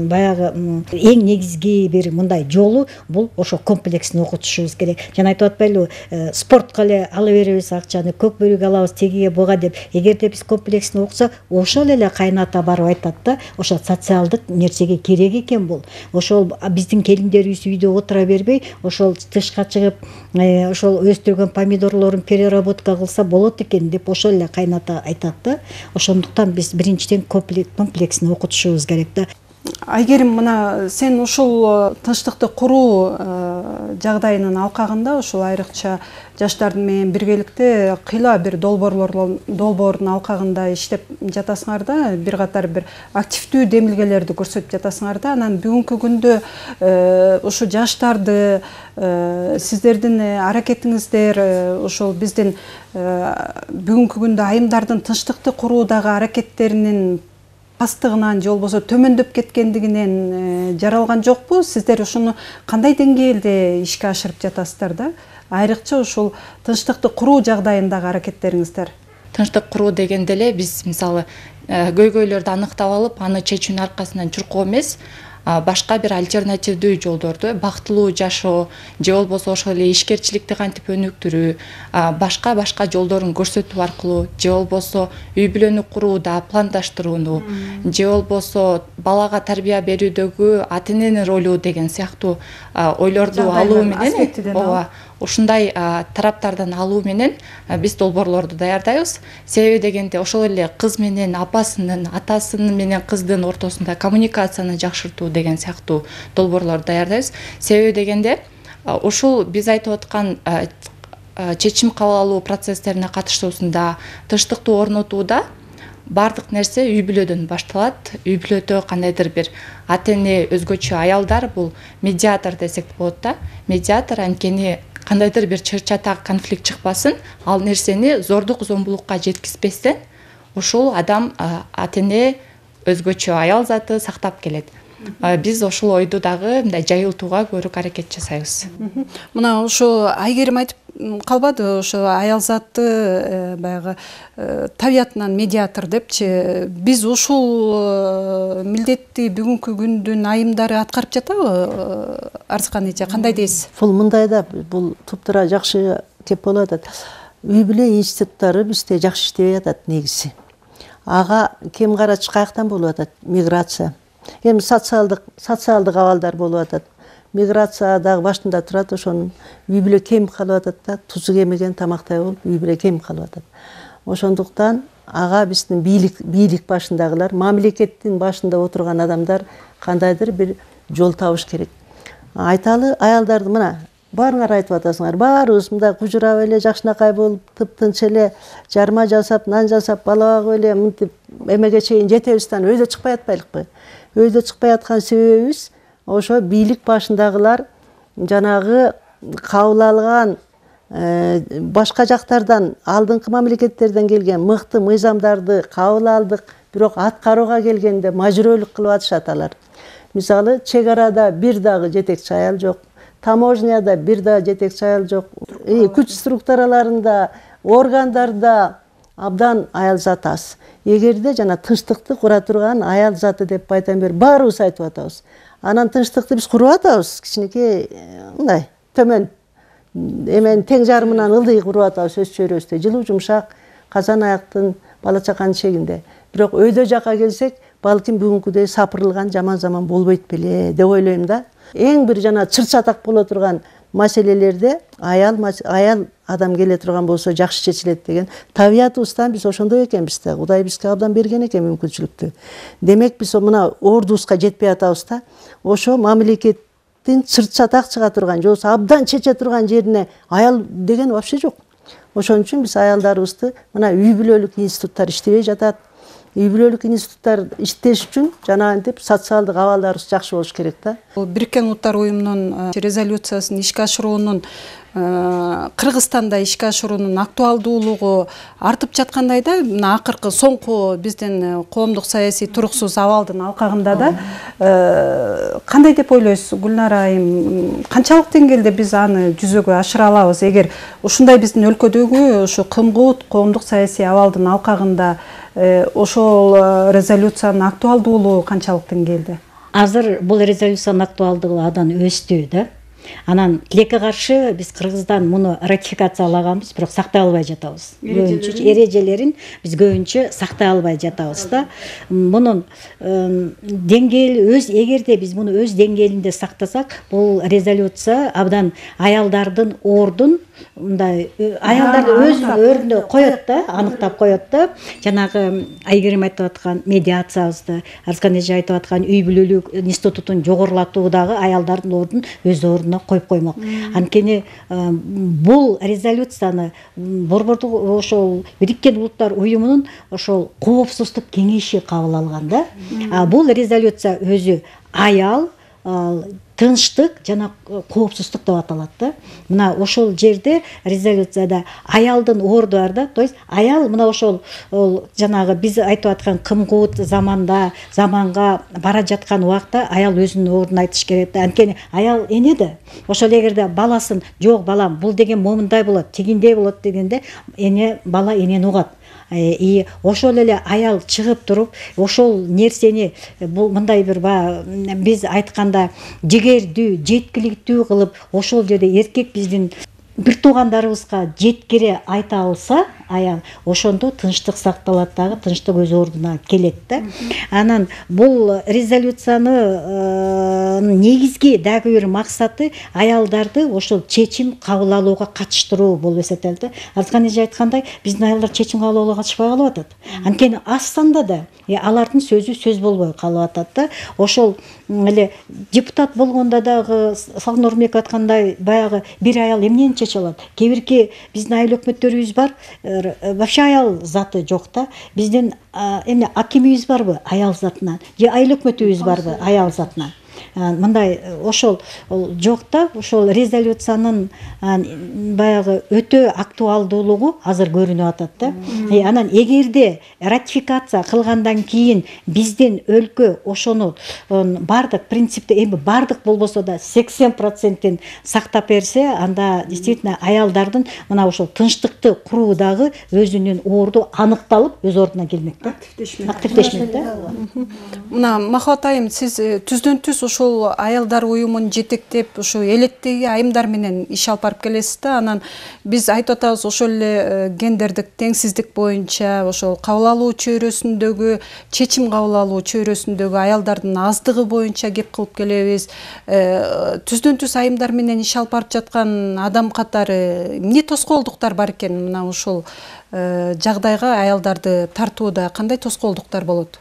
D: баягы эң негизги бир мындай жолу бул ошо комплексно окутушубуз керек. Жана айтып атпайлыбы, спортко эле ала беребиз акчаны, көк бөрүгө алабыз, тегиге буга деп. Эгерде биз комплексно окусак, ошол эле кайната барып айтат да, ошо социалдык нерсеге керек экен бул. Ошол биздин келиндерибиз үйдө отура бербей, ошол тышка чыгып, ошол өстүргөн помидорлорун переработка кылса болот экен деп ошол эле кайната айтат да. Ошондуктан биз биринчиден комплексно окутушубуз керек да.
A: Айгерим, мына сен ушул тынчтыкты куруу жагдайынын алкагында ушул айрыкча жаштардын менен биргеликте кыйла бир долбоордун алкагында иштеп жатасыңар да, бир катар бир активдүү демилгелерди көрсөтүп жатасыңар да. Анан бүгүнкү күндө ушу жаштарды сиздердин аракетиңиздер ошол биздин бүгүнкү күндө айымдардын тынчтыкты куруудагы аракеттеринин пастыгынан же болбосо төмөндөп кеткендигинен жаралган жокпу? Сиздер ушуну кандай деңгээлде ишке ашырып жатасыздар да? Айрыкча ушул тынчтыкты куруу жагдайындагы аракеттериңиздер.
F: Тынчтык куруу дегенде эле биз мисалы көйгөйлөрдү анықтап алып, аны чечүүнүн аркасынан чуркоо эмес, башка бир альтернативдүү жолдорду, бактылуу жашоо же болбосо ошол эле ишкерчиликти кантип өнүктүрүү, башка башка жолдорун көрсөтүү аркылуу, же болбосо үй бүлөнү курууда пландаштырууну, же болбосо балага тарбия берүүдөгү ата эненин ролу деген сыяктуу ойлорду алуу менен, ооба, ушундай тараптардан алуу менен биз долбоорлорду даярдайбыз. Себеби дегенде ошол эле кыз менен апасынын, атасынын менен кыздын ортосунда коммуникацияны жакшыртуу деген сыяктуу долбоорлорду даярдайбыз. Себеби дегенде ушул биз айтып аткан чечим кабыл алуу процесстерине катышуусунда, тынчтыкты орнотууда бардык нерсе үй бүлөдөн башталат. Үй бүлөдө кандайдыр бир ата эне, өзгөчө аялдар, бул медиатор десек болот да. Медиатор анткени кандайдыр бир чыр чатак конфликт чыкпасын, ал нерсени зордук, зомбулукка жеткизбестен ушул адам, ата эне, өзгөчө аял заты сактап келет. Биз ошол ойду дагы мындай жайылтууга көрүк аракет жасайбыз.
A: Мына ошо Айгерим айтып калбады, ошо аял заты баягы табиятынан медиатор депчи. Биз ушул милдетти бүгүнкү күндүн айымдары аткарып жатабы, Арзыкан эже, кандай дейсиз?
E: Бул мындай да, бул туптура жакшы кеп болуп атат. Үй бүлө институттары бизде жакшы иштебей атат негизи. Ага кем карач каяктан болуп атат? Миграция. Эми социалдык социалдык абалдар болуп атат. Миграция дагы башында турат, ошонун үй бүлө кем калып атат да, тузу кемеген тамактай болуп үй бүлө кем калып атат. Ошондуктан ага биздин бийлик бийлик башындагылар, мамлекеттин башында отурган адамдар кандайдыр бир жол табыш керек. Айталы аялдарды мына баарыңар айтып атасыңар, баарыбыз мындай кужурап эле жакшынакай болуп, тыптынч эле жарма жасап, нан жасап, бала багып эле мынтип эмеге чейин жетебиз да өйдө чыкпай атпайлыкпы? Өйдө чыкпай аткан себебибиз ошо бийлик башындагылар жанагы кабыл алган башка жактардан, алдыңкы мамлекеттерден келген мыкты мыйзамдарды кабыл алдык, бирок аткарууга келгенде мажбүрөлүк кылып атышат алар. Мисалы, чек арада бир дагы жетекчи аял жок, таможняда бир дагы жетекчи аял жок, күч структураларында, органдарда абдан аял заты аз. Эгерде жана тынчтыкты кура турган аял заты деп айтам бер, баарыбыз айтып атабыз. Анан тынчтыкты биз куруп атабыз, кичинекей мындай төмөн эмен тең жарымынан ылдый куруп атабыз өз чөйрөбүздө, жылуу жумшак, казан аяктын бала чаканын чегинде. Бирок өйдө жака келсек, балким бүгүнкүдөй сапырылган жаман заман болбойт беле деп ойлойм да. Эң бир жана чыр-чатак боло турган маселелерде аял аял адам келе турган болсо жакшы чечилет деген табиятыбыздан биз ошондой экенбиз да. Кудай бизге абдан берген экен мүмкүнчүлүктү. Демек биз мына ордубузга жетпей атабыз да. Ошо мамлекеттин чыр-чатак чыга турган, же болбосо абдан чече турган жерине аял деген вообще жок. Ошон үчүн биз аялдарыбызды мына үй бүлөлүк институттар иштебей жатат. Үй бүлөлүк институттар иштеш үчүн жанагынтип социалдык абалдарыбыз жакшы болуш керек да.
A: Бириккен Улуттар уюмунун резолюциясын ишке ашыруунун Кыргызстанда ишке ашыруунун актуалдуулугу артып жаткандай да, мына акыркы соңку биздин коомдук саясий туруксуз абалдын алкагында да кандай деп ойлойсуз Гүлнара айым, канчалык деңгээлде биз аны жүзөгө ашыра алабыз? Эгер ушундай биздин өлкөдөгү ушу кымгут коомдук саясий абалдын алкагында ошол резолюциянын актуалдуулугу канчалык деңгээлде?
D: Азыр бул резолюциянын актуалдуулугу абдан өстү да. Анан тилекке каршы биз Кыргыздан муну ратификациялаганбыз, бирок сактай албай жатабыз. Көбүнчө эрежелерин биз көбүнчө сактай албай жатабыз да. Мунун деңгээли өз эгерде биз муну өз деңгээлинде сактасак, бул резолюция абдан аялдардын ордун мындай аялдарды өзүнүн ордуна коет да, аныктап коет да. Жанагы Айгерим айтып аткан медиациябызды, Арскан эже айтып аткан үй бүлөлүк институтун жогорулатуудагы аялдардын ордун өз ордуна коюп коймок. Анткени бул резолюцияны Борбордук ошол Бириккен Улуттар уюмунун ошол коопсуздук кеңеши кабыл алган да. А бул резолюция өзү аял, тынчтык жана коопсуздук деп аталат да. Мына ошол жерде резолюцияда аялдын орду бар да. То есть аял мына ошол жанагы биз айтып аткан кымгут заманда, заманга бара жаткан убакта аял өзүнүн ордун айтыш керек да. Анткени аял эне да. Ошол эгерде баласын жок балам бул деген момундай болот, тигиндей болот дегенде эне бала энени угат. И ошол эле аял чыгып туруп ошол нерсени бул мындай бир биз айтканда жигердүү, жеткиликтүү кылып ошол жерде эркек биздин бир туугандарыбызга жеткире айта алса аял, ошондо тынчтык сакталат дагы, тынчтык өз ордуна келет да. Анан бул резолюциянын негизги дагы бир максаты аялдарды ошол чечим кабыл алууга катыштыруу болуп эсептелет да. Арскан эже айткандай, биздин аялдар чечим кабыл алууга катышпай калып атат. Анткени аз санда да алардын сөзү сөз болбой калып атат да. Ошол эле депутат болгондо дагы Салкын Нурмбек айткандай, баягы бир аял эмнени чече алат? Кээ бирки биздин айыл өкмөттөрүбүз бар, вообще аял заты жок да. Биздин эмне акимибиз барбы аял затынан, же айыл өкмөтүбүз барбы аял затынан? Мындай ошол жок да. Ошол резолюциянын баягы өтө актуалдуулугу азыр көрүнүп атат да. Анан эгерде ратификация кылгандан кийин биздин өлкө ошону бардык принципте эми бардык болбосо да сексен процентин сактап берсе, анда действительно аялдардын мына ошол тынчтыкты куруудагы өзүнүн орду аныкталып өз ордуна келмек да. Активдешмек да.
A: Мына Махабат айым, сиз түздөн түз ошол аялдар уюмун жетектеп ушу элеттеги айымдар менен иш алып барып келесиз да. Анан биз айтып атабыз ошол эле гендердик теңсиздик боюнча ошол кабыл алуу чөйрөсүндөгү чечим кабыл алуу чөйрөсүндөгү аялдардын аздыгы боюнча кеп кылып келебиз. Түздөн түз айымдар менен иш алып барып жаткан адам катары эмне тоскоолдуктар бар экен? Мына ушул жагдайга аялдарды тартууда кандай тоскоолдуктар болот?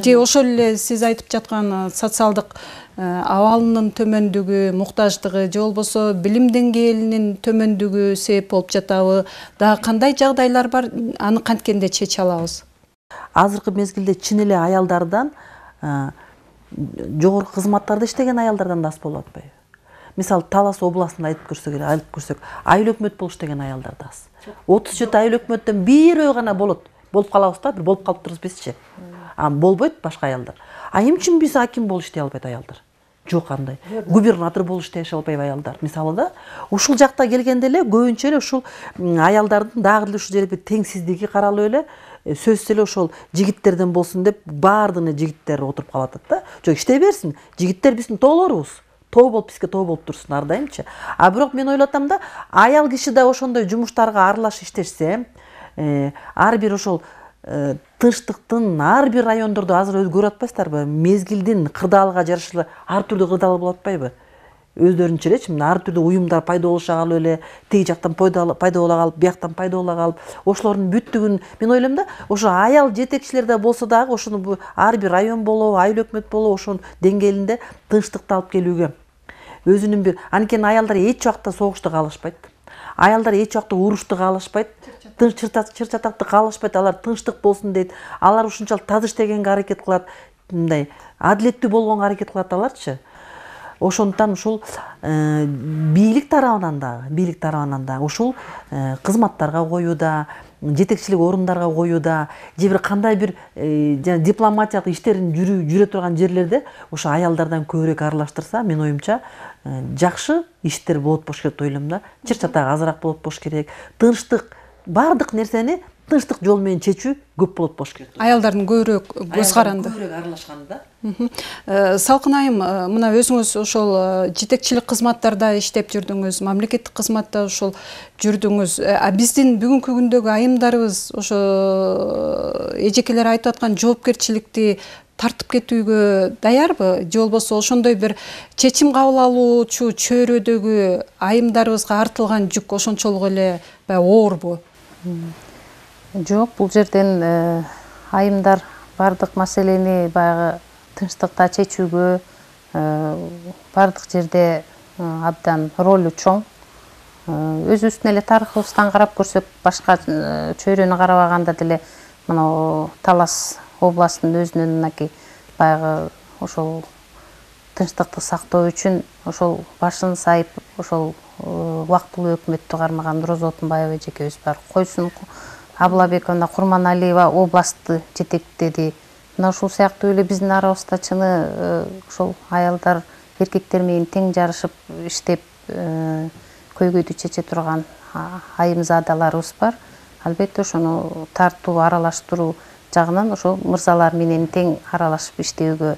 A: Же ошол эле сиз айтып жаткан социалдык абалынын төмөндүгү, муктаждыгы же болбосо билим деңгээлинин төмөндүгү себеп болуп жатабы? Дагы кандай жагдайлар бар? Аны канткенде чече алабыз?
B: Азыркы мезгилде чын эле аялдардан жогорку кызматтарда иштеген аялдардан да аз болуп атпайбы? Мисалы Талас областында айтып көрсөк эле, айтып көрсөк, айыл өкмөт болуш деген аялдар да аз. отуз жети айыл өкмөттөн бирөө гана болот. Болуп калабыз да, бир болуп калып турбуз бизчи. А болбойт башка аялдар. А эмне үчүн биз аким болуп иштей албайт аялдар? Жок андай. Губернатор болуп иштей албайбы аялдар? Мисалы да, ушул жакта келгенде эле көбүнчө эле ушул аялдардын дагы эле ушул жерде бир теңсиздиги каралып эле, сөзсүз эле ошол жигиттерден болсун деп баардыгына жигиттер отуруп калат да. Жок, иштей берсин. Жигиттер биздин тоолорубуз. Тоо болуп бизге тоо болуп турсун ар дайымчы. А бирок мен ойлоп атам да, аял киши да ошондой жумуштарга аралашып иштешсе, ар бир ошол тынчтыктын ар бир райондордо азыр өзгөрүп атпайсыздарбы? Мезгилдин кырдаалыга жараша ар түрдүү кырдаал болуп атпайбы? Өздөрүнчө элечи, мына ар түрдүү уюмдар пайда болуша калып эле, тиги жактан пайда боло калып, бияктан пайда боло калып, ошолордун бүттүгүн мен ойлойм да, ошо аял жетекчилер да болсо дагы ошону ар бир район болобу, айыл өкмөт болобу, ошонун деңгээлинде тынчтыкты алып келүүгө өзүнүн бир, анткени аялдар эч убакта согушту каалашпайт. Аялдар эч убакта урушту каалашпайт. Тынч чыр-чатакты каалашпайт. Алар тынчтык болсун дейт. Алар ушунчалык таза иштегенге аракет кылат. Мындай адилеттүү болгонго аракет кылат аларчы. Ошондуктан ушул бийлик тарабынан дагы, бийлик тарабынан дагы ушул кызматтарга коюуда, жетекчилик орундарга коюуда, же бир кандай бир дипломатиялык иштерин жүрө турган жерлерде ошо аялдардан көбүрөөк аралаштырса, мен оюмча жакшы иштер болот болуш керек деп ойлойм да. Чыр-чатак азыраак болот болуш керек. Тынчтык, бардык нерсени тынчтык жол менен чечүү көп болот болуш керек.
A: Аялдардын көбүрөөк көз каранды.
B: Көбүрөөк аралашканда.
A: Салкын айым, мына өзүңүз ошол жетекчилик кызматтарда иштеп жүрдүңүз, мамлекеттик кызматта ошол жүрдүңүз. А биздин бүгүнкү күндөгү айымдарыбыз ошо эжекелер айтып аткан жоопкерчиликти тартып кетүүгө даярбы? Же болбосо ошондой бир чечим кабыл алуучу чөйрөдөгү айымдарыбызга артылган жүк ошончолук эле баягы оорбу?
C: Жок, бул жерден айымдар бардык маселени баягы тынчтыкта чечүүгө бардык жерде абдан ролу чоң. Өзүбүздүн эле тарыхыбыздан карап көрсөк, башка чөйрөнү карабаганда деле мына Талас областынын өзүнүн мынакей баягы ошол тынчтыкты сактоо үчүн ошол башын сайып ошол убактылуу өкмөттү кармаган Роза Отунбаева эжекебиз бар. Койсун Аблабековна Курманалиева областты жетектеди. Мына ушул сыяктуу эле биздин арабызда чыны ошол аялдар эркектер менен тең жарышып иштеп көйгөйдү чече турган айымзадаларыбыз бар. Албетте ошону тартуу, аралаштыруу жагынан ошол мырзалар менен тең аралашып иштөөгө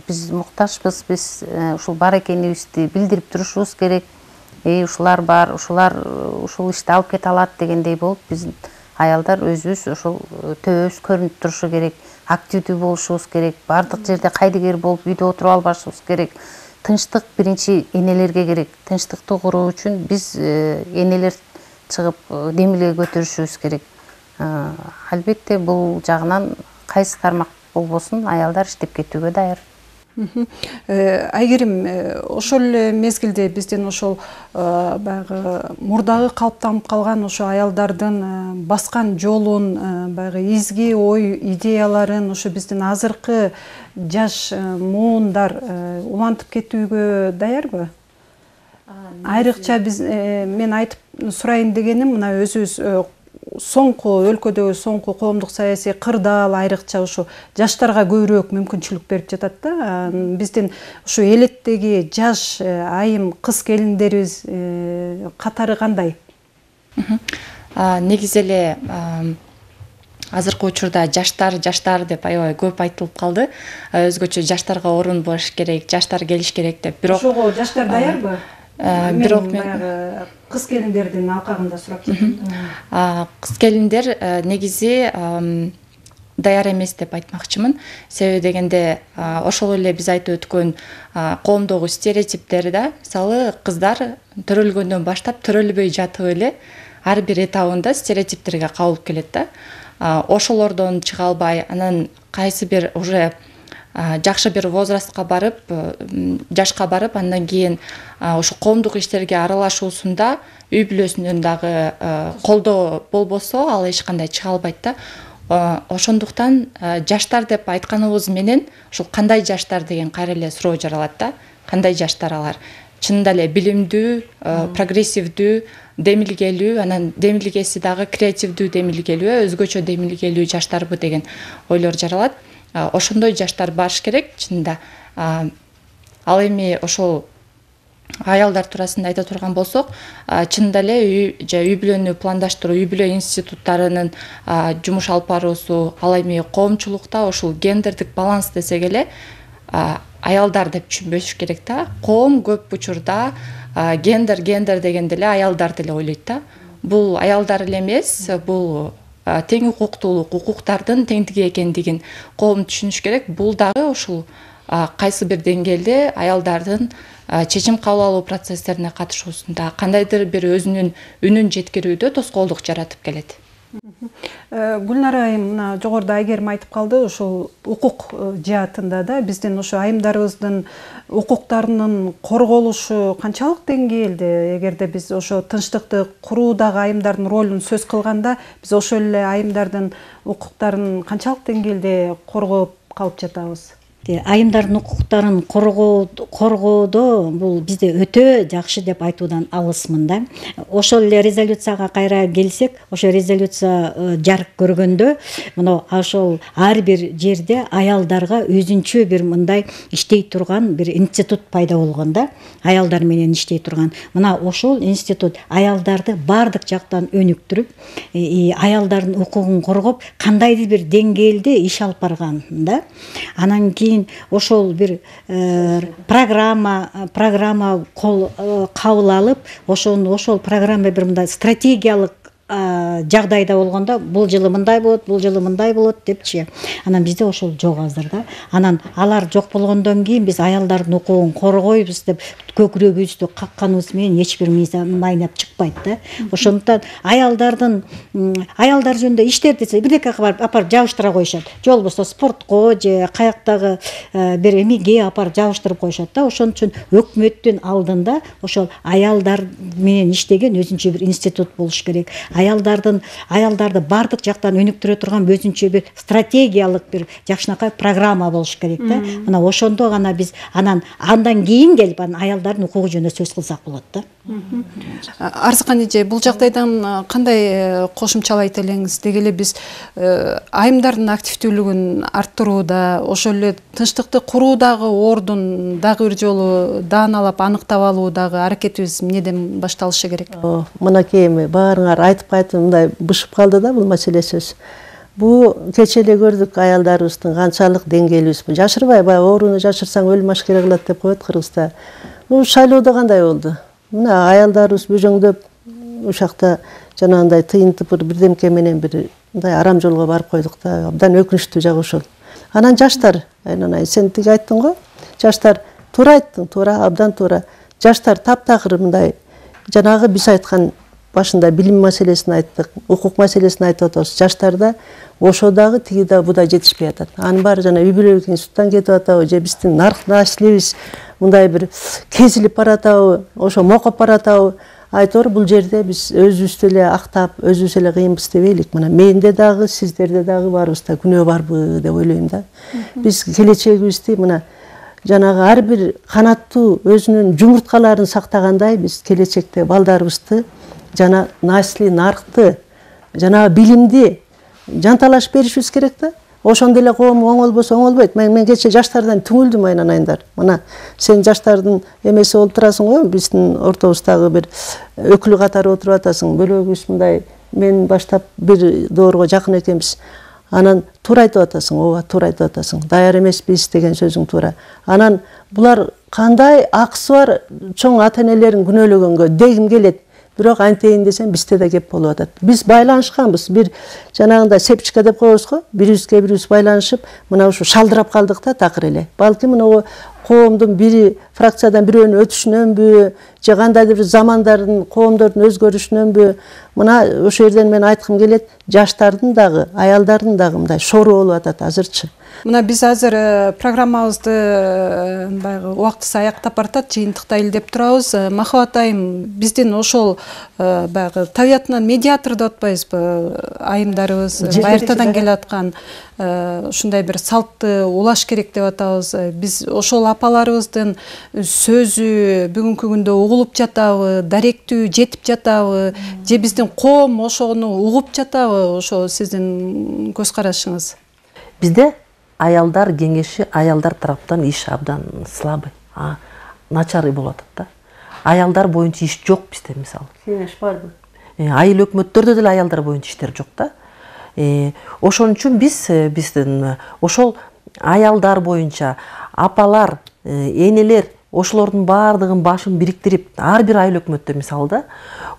C: биз муктажбыз. Биз ушул бар экенибизди билдирип турушубуз керек. Эй, ушулар бар, ушулар ушул ишти алып кете алат дегендей болуп, биз аялдар өзүбүз ошол төбөбүз көрүнүп турушу керек, активдүү болушубуз керек, бардык жерде кайдыгер болуп үйдө отуруп албашыбыз керек. Тынчтык биринчи энелерге керек. Тынчтыкты куруу үчүн биз энелер чыгып демилге көтөрүшүбүз керек. Албетте бул жагынан кайсы тармак болбосун аялдар иштеп кетүүгө даяр.
A: Айгерим, ошол эле мезгилде биздин ошол баягы мурдагы калыптанып калган ошо аялдардын баскан жолун, баягы изги ой идеяларын ошо биздин азыркы жаш муундар улантып кетүүгө даярбы? Айрыкча биз мен айтып сурайын дегеним, мына өзүбүз соңку өлкөдөгү соңку коомдук саясий кырдаал айрыкча ушу жаштарга көбүрөөк мүмкүнчүлүк берип жатат да. Биздин ушу элеттеги жаш айым кыз келиндерибиз катары кандай?
F: Негизи эле азыркы учурда жаштар жаштар деп аябай көп айтылып калды. Өзгөчө жаштарга орун болуш керек, жаштар келиш керек деп. Бирок
A: ошого жаштар даярбы?
F: Бирок
A: мен кыз келиндердин алкагында сурап жатам.
F: Кыз келиндер негизи даяр эмес деп айтмакчымын. Себеби дегенде ошол эле биз айтып өткөн коомдогу стереотиптер да, мисалы кыздар төрөлгөндөн баштап төрөлбөй жатып эле ар бир этабында стереотиптерге кабылып келет да. Ошолордон чыга албай, анан кайсы бир уже жакшы бир возрастка барып, жашка барып, андан кийин ошо коомдук иштерге аралашуусунда үй бүлөсүнөн дагы колдоо болбосо, ал эч кандай чыга албайт да. Ошондуктан жаштар деп айтканыбыз менен ушул кандай жаштар деген кайра эле суроо жаралат да. Кандай жаштар алар? Чынында эле билимдүү, прогрессивдүү, демилгелүү, анан демилгеси дагы креативдүү демилгелүү, өзгөчө демилгелүү жаштарбы деген ойлор жаралат. Ошондой жаштар баш керек чынында. Ал эми ошол аялдар туурасында айта турган болсок, чынында эле үй бүлөнү пландаштыруу, үй бүлө институттарынын жумуш алып баруусу, ал эми коомчулукта ошол гендердик баланс десек эле аялдар деп түшүнбөш керек да. Коом көп учурда гендер гендер дегенде эле аялдарды эле ойлойт да. Бул аялдар эле эмес, бул тең укуктуулук, укуктардын теңдиги экендигин коом түшүнүш керек. Бул дагы ушул кайсы бир деңгээлде аялдардын чечим кабыл алуу процесстерине катышуусунда кандайдыр бир өзүнүн үнүн жеткирүүдө тоскоолдук жаратып келет.
A: Гүлнара айым мына жогоруда Айгерим айтып калды, ушул укук жаатында да биздин ошо айымдарыбыздын укуктарынын корголушу канчалык деңгээлде? Эгерде биз ошо тынчтыкты куруудагы айымдардын ролун сөз кылганда, биз ошол эле айымдардын укуктарын канчалык деңгээлде коргоп калып жатабыз?
D: Айымдардын укуктарын коргоодо бул бизде өтө жакшы деп айтуудан алысмын да. Ошол эле резолюцияга кайра келсек, ошо резолюция жарык көргөндө, мына ошол ар бир жерде аялдарга өзүнчө бир мындай иштей турган бир институт пайда болгон да. Аялдар менен иштей турган. Мына ошол институт аялдарды бардык жактан өнүктүрүп, аялдардын укугун коргоп, кандайдыр бир деңгээлде иш алып барган да. Анан кийин ошол бир программа программа кабыл алып, ошону ошол программа бир мындай стратегиялык жагдайда болгондо бул жылы мындай болот, бул жылы мындай болот депчи. Анан бизде ошол жок азыр да. Анан алар жок болгондон кийин биз аялдардын укугун коргойбуз деп көкүрөгүбүздү какканыбыз менен эч бир майнап чыкпайт да. Ошондуктан аялдардын аялдар жөнүндө иштер десе бирдеке барып апарып жабыштыра коюшат. Же болбосо спортко же каяктагы бир эмеге апарып жабыштырып коюшат да. Ошон үчүн өкмөттүн алдында ошол аялдар менен иштеген өзүнчө бир институт болуш керек. Аялдардын аялдарды бардык жактан өнүктүрө турган өзүнчө бир стратегиялык бир жакшынакай программа болуш керек да. Мына ошондо гана биз анан андан кийин келип анан аялдардын укугу жөнүндө сөз кылсак болот да.
A: Арзыкан эже, бул жагдайдан кандай кошумчалайт элеңиз? Деги эле биз айымдардын активдүүлүгүн арттырууда, ошол эле тынчтыкты куруудагы ордун дагы бир жолу дааналап аныктап алуудагы аракетибиз эмнеден башталышы керек?
E: Мынакей эми баарыңар айтып кайтып мындай бышып калды да бул маселе сөз. Бу кече эле көрдүк аялдарыбыздын канчалык деңгээлибиз. Жашырбай, баягы ооруну жашырсаң өлүм ашкере кылат деп коет Кыргызда. Ну шайлоодо кандай болду? Мына аялдарыбыз бөжөңдөп ушакта жанагындай тыйын тыпыр бирдемке менен бир мындай арам жолго барып койдук да. Абдан өкүнүчтүү жагы ошол. Анан жаштар, Айнанай, сен тиги айттың го? Жаштар туура айттың, туура, абдан туура. Жаштар таптакыр мындай жанагы биз айткан башында билим маселесин айттык, укук маселесин айтып атабыз. Жаштарда ошо дагы тиги да бу да жетишпей атат. Анын баары жана үй бүлөлүк институттан кетип атабы же биздин нарк наслибиз мындай бир кезилип баратабы, ошо мокоп баратабы? Айтор бул жерде биз өзүбүздү эле актап, өзүбүз эле кыйынбыз дебейлик. Мына менде дагы, сиздерде дагы баарыбызда күнөө барбы деп ойлойм да. Биз келечегибизди мына жанагы ар бир канаттуу өзүнүн жумурткаларын сактагандай биз келечекте балдарыбызды жана насли наркты, жана билимди жанталаш беришибиз керек да. Ошондо эле коом оңолбосо оңолбойт. Мен мен кече жаштардан түңүлдүм, Айнанайдар. Мына сен жаштардын эмеси болуп турасың го, биздин ортобуздагы бир өкүлү катары отуруп атасың. Бөлөгүбүз мындай мен баштап бир доорго жакын экенбиз. Анан туура айтып атасың, ооба туура айтып атасың. Даяр эмеспиз деген сөзүң туура. Анан булар кандай акысы бар чоң ата-энелерин күнөөлөгөнгө дегим келет. Бирок антейин десем бизде да кеп болуп атат. Биз байланышканбыз. Бир жанагында сепчика деп коебуз го. Бирибизге бирибиз байланышып, мына ушу шалдырап калдык да такыр эле. Балки мына коомдун бири фракциядан бирөөнүн өтүшүнөнбү, же кандайдыр бир замандардын, коомдордун өзгөрүшүнөнбү? Мына ошол жерден мен айткым келет, жаштардын дагы, аялдардын дагы мындай шору болуп атат азырчы.
A: Мына биз азыр программабызды баягы убактысы аяктап баратат, жыйынтыктай деп турабыз. Махабат айым, биздин ошол баягы табиятынан медиатор деп атпайбызбы? Айымдарыбыз байыртадан келе аткан ушундай бир салтты улаш керек деп атабыз. Биз ошол апаларыбыздын сөзү бүгүнкү күндө угулуп жатабы, даректүү жетип жатабы, же биздин коом ошону угуп жатабы? Ошо сиздин көз карашыңыз.
B: Бизде аялдар кеңеши аялдар тараптан иш абдан слабый, начар болуп атат да. Аялдар боюнча иш жок бизде мисалы.
E: Кеңеш барбы?
B: Айыл өкмөттөрдө деле аялдар боюнча иштер жок да. Ошон үчүн биз биздин ошол аялдар боюнча апалар, энелер ошолордун баардыгын башын бириктирип, ар бир айыл өкмөттө мисалы да,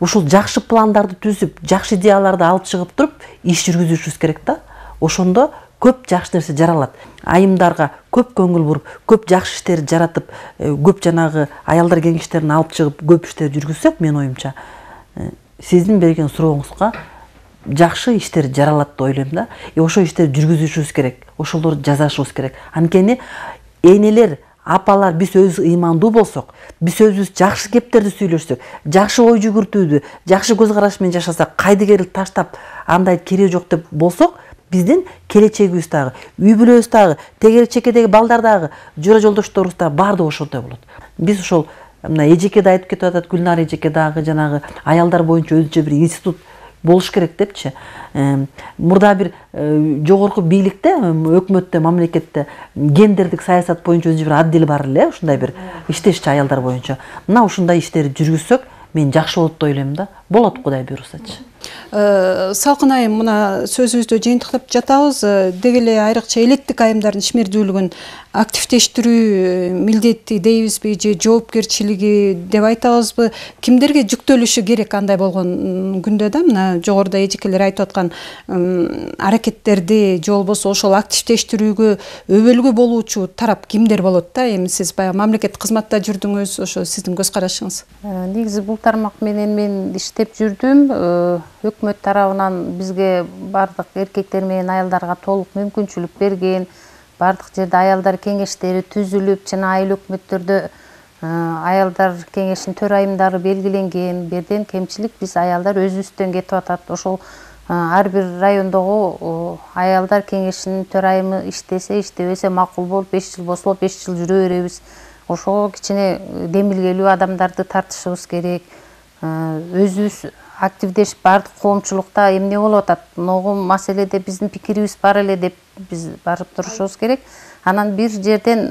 B: ушул жакшы пландарды түзүп, жакшы идеяларды алып чыгып туруп, иш жүргүзүшүбүз керек да. Ошондо көп жакшы нерсе жаралат. Айымдарга көп көңүл буруп, көп жакшы иштерди жаратып, көп жанагы аялдар кеңештерин алып чыгып, көп иштерди жүргүзсөк, мен оюмча, сиздин берген сурооңузга жакшы иштер жаралат деп ойлойм да. И ошол иштерди жүргүзүшүбүз керек, ошолорду жасашыбыз керек. Анткени энелер, апалар биз өзүбүз ыймандуу болсок, биз өзүбүз жакшы кептерди сүйлөшсөк, жакшы ой жүгүртүүдү, жакшы көз караш менен жашасак, кайдыгерлик таштап, андай кереги жок деп болсок, биздин келечегибиз дагы, үй бүлөбүз дагы, тегеречекедеги балдар дагы, жора жолдошторубуз дагы баардыгы ошондой болот. Биз ошол мына Эжеке да айтып кетип атат, Гүлнар Эжеке дагы жанагы аялдар боюнча өзүнчө бир институт болуш керек депчи. Мурда бир жогорку бийликте, өкмөттө, мамлекетте гендердик саясат боюнча өзүнчө бир отдел бар эле, ушундай бир иштешчи аялдар боюнча. Мына ушундай иштерди жүргүзсөк, мен жакшы болот деп ойлойм да. Болот, Кудай буйрусачы.
A: Салкын айым, мына сөзүбүздү жыйынтыктап жатабыз. Деги эле айрыкча элеттик айымдардын ишмердүүлүгүн активдештирүү милдети дейбизби, же жоопкерчилиги деп айтабызбы? Кимдерге жүктөлүшү керек андай болгон күндө да? Мына жогоруда эжекелер айтып аткан аракеттерди же болбосо ошол активдештирүүгө өбөлгө болуучу тарап кимдер болот да? Эми сиз баягы мамлекеттик кызматта жүрдүңүз, ошо сиздин көз карашыңыз.
C: Негизи бул тармак менен мен иштеп жүрдүм. Өкмөт тарабынан бизге бардык эркектер менен аялдарга толук мүмкүнчүлүк берген, бардык жерде аялдар кеңештери түзүлүп, жана айыл өкмөттөрдө аялдар кеңешинин төрайымдары белгиленген. Берден кемчилик биз аялдар өзүбүздөн кетип атат. Ошол ар бир райондогу аялдар кеңешинин төрайымы иштесе, иштебесе макул болуп, беш жыл болсо беш жыл жүрө беребиз. Ошого кичине демилгелүү адамдарды тартышыбыз керек. Өзүбүз активдешип бардык коомчулукта эмне болуп атат, могу маселеде биздин пикирибиз бар эле деп биз барып турушубуз керек. Анан бир жерден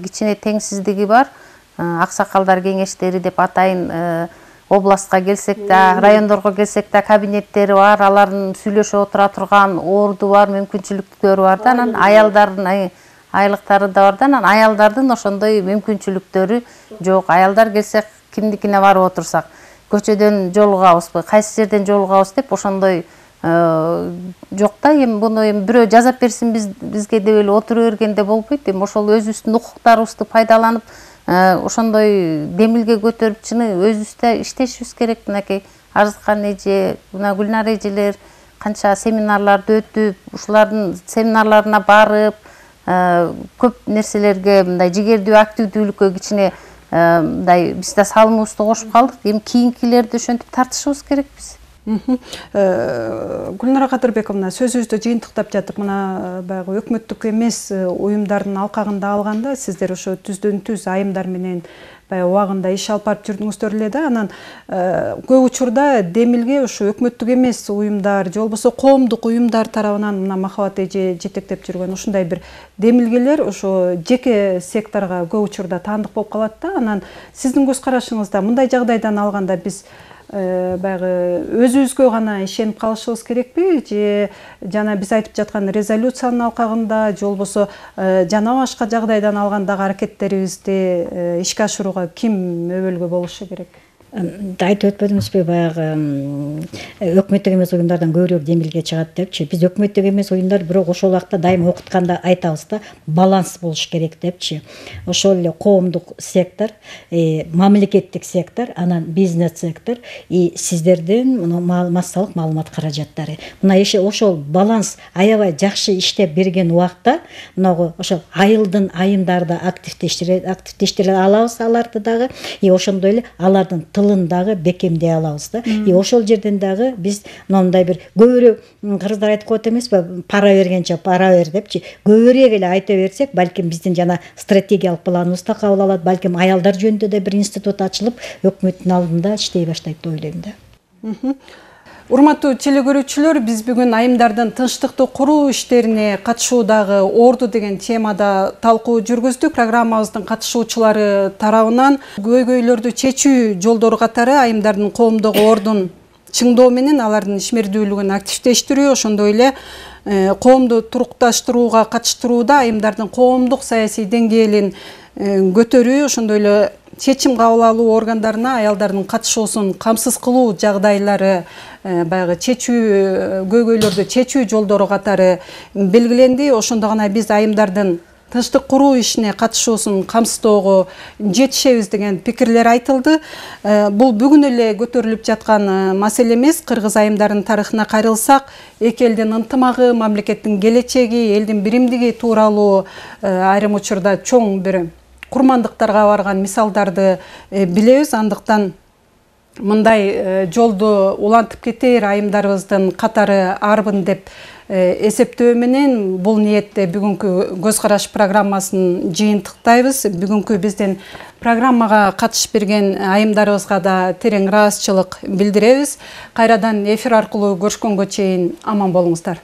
C: кичине теңсиздиги бар. Аксакалдар кеңештери деп атайын, областка келсек да, райондорго келсек да кабинеттери бар, алардын сүйлөшүп отура турган орду бар, мүмкүнчүлүктөрү бар да. Анан аялдардын айлыктары да бар да, анан аялдардын ошондой мүмкүнчүлүктөрү жок. Аялдар келсек, кимдикине барып отурсак, көчөдөн жолугабызбы, кайсы жерден жолугабыз деп ошондой жок да. Эми буну эми бирөө жазап берсин бизге деп эле отура бергенде болбойт. Эми ошол өзүбүздүн укуктарыбызды пайдаланып, ошондой демилге көтөрүп, чыны өзүбүздө иштешибиз керек. Мынакей Арзыкан эже, мына Гүлнар эжелер канча семинарларды өтүп, ушулардын семинарларына барып, көп нерселерге мындай жигердүү активдүүлүккө кичине мындай биз да салымыбызды кошуп калдык. Эми кийинкилерди ошентип тартышыбыз керек биз.
A: Гүлнара Кадырбековна, сөзүбүздү жыйынтыктап жатып, мына баягы өкмөттүк эмес уюмдардын алкагында алганда сиздер ошо түздөн түз айымдар менен баягы убагында иш алып барып жүрдүңүздөр эле да. Анан көп учурда демилге ошо өкмөттүк эмес уюмдар же болбосо коомдук уюмдар тарабынан мына Махабат эже жетектеп жүргөн ушундай бир демилгелер ошо жеке секторго көп учурда таандык болуп калат да. Анан сиздин көз карашыңызда мындай жагдайдан алганда биз баягы өзүбүзгө гана ишенип калышыбыз керекпи, же жана биз айтып жаткан резолюциянын алкагында, же болбосо жана башка жагдайдан алгандагы аракеттерибизди ишке ашырууга ким өбөлгө болушу керек?
D: Айтып өтпөдүңүзбү, баягы өкмөттүк эмес оюндардан көбүрөөк жеңилге чыгат депчи. Биз өкмөттүк эмес оюндар, бирок ошол убакта дайыма окутканда айтабыз да, баланс болуш керек депчи. Ошол эле коомдук сектор, мамлекеттик сектор, анан бизнес сектор и сиздердин массалык маалымат каражаттары. Мына ошол баланс аябай жакшы иштеп берген убакта, мынагу ошол айылдын айымдарды активдештире активдештире алабыз аларды дагы, и ошондой эле алардын тылын дагы бекемдей алабыз да. И ошол жерден дагы биз мындай бир көбүрөөк, кыргыздар айтып коет эмеспи, пара бергенче пара бер депчи, көбүрөөк эле айта берсек, балким биздин жана стратегиялык планыбыз да кабыл алат, балким аялдар жөнүндө да бир институт ачылып, өкмөттүн алдында иштей баштайт деп ойлойм да.
A: Урматтуу телекөрүүчүлөр, биз бүгүн айымдардын тынчтыкты куруу иштерине катышуудагы орду деген темада талкуу жүргүздүк. Программабыздын катышуучулары тарабынан көйгөйлөрдү чечүү жолдору катары айымдардын коомдогу ордун чыңдоо менен алардын ишмердүүлүгүн активдештирүү, ошондой эле коомду турукташтырууга катыштырууда айымдардын коомдук саясий деңгээлин көтөрүү, ошондой эле чечим кабыл алуу органдарына аялдардын катышуусун камсыз кылуу жагдайлары, баягы чечүү көйгөйлөрдү чечүү жолдору катары белгиленди. Ошондо гана биз айымдардын тынчтык куруу ишине катышуусун камсыздоого жетишебиз деген пикирлер айтылды. Бул бүгүн эле көтөрүлүп жаткан маселе эмес. Кыргыз айымдарынын тарыхына кайрылсак, эки элдин ынтымагы, мамлекеттин келечеги, элдин биримдиги тууралуу айрым учурда чоң бир курмандыктарга барган мисалдарды билебиз. Андыктан мындай жолду улантып кетээр айымдарыбыздын катары арбын деп эсептөө менен бул ниетте бүгүнкү Көз караш программасын жыйынтыктайбыз. Бүгүнкү биздин программага катышып берген айымдарыбызга да терең ыраазычылык билдиребиз. Кайрадан эфир аркылуу көрүшкөнгө чейин аман болуңуздар.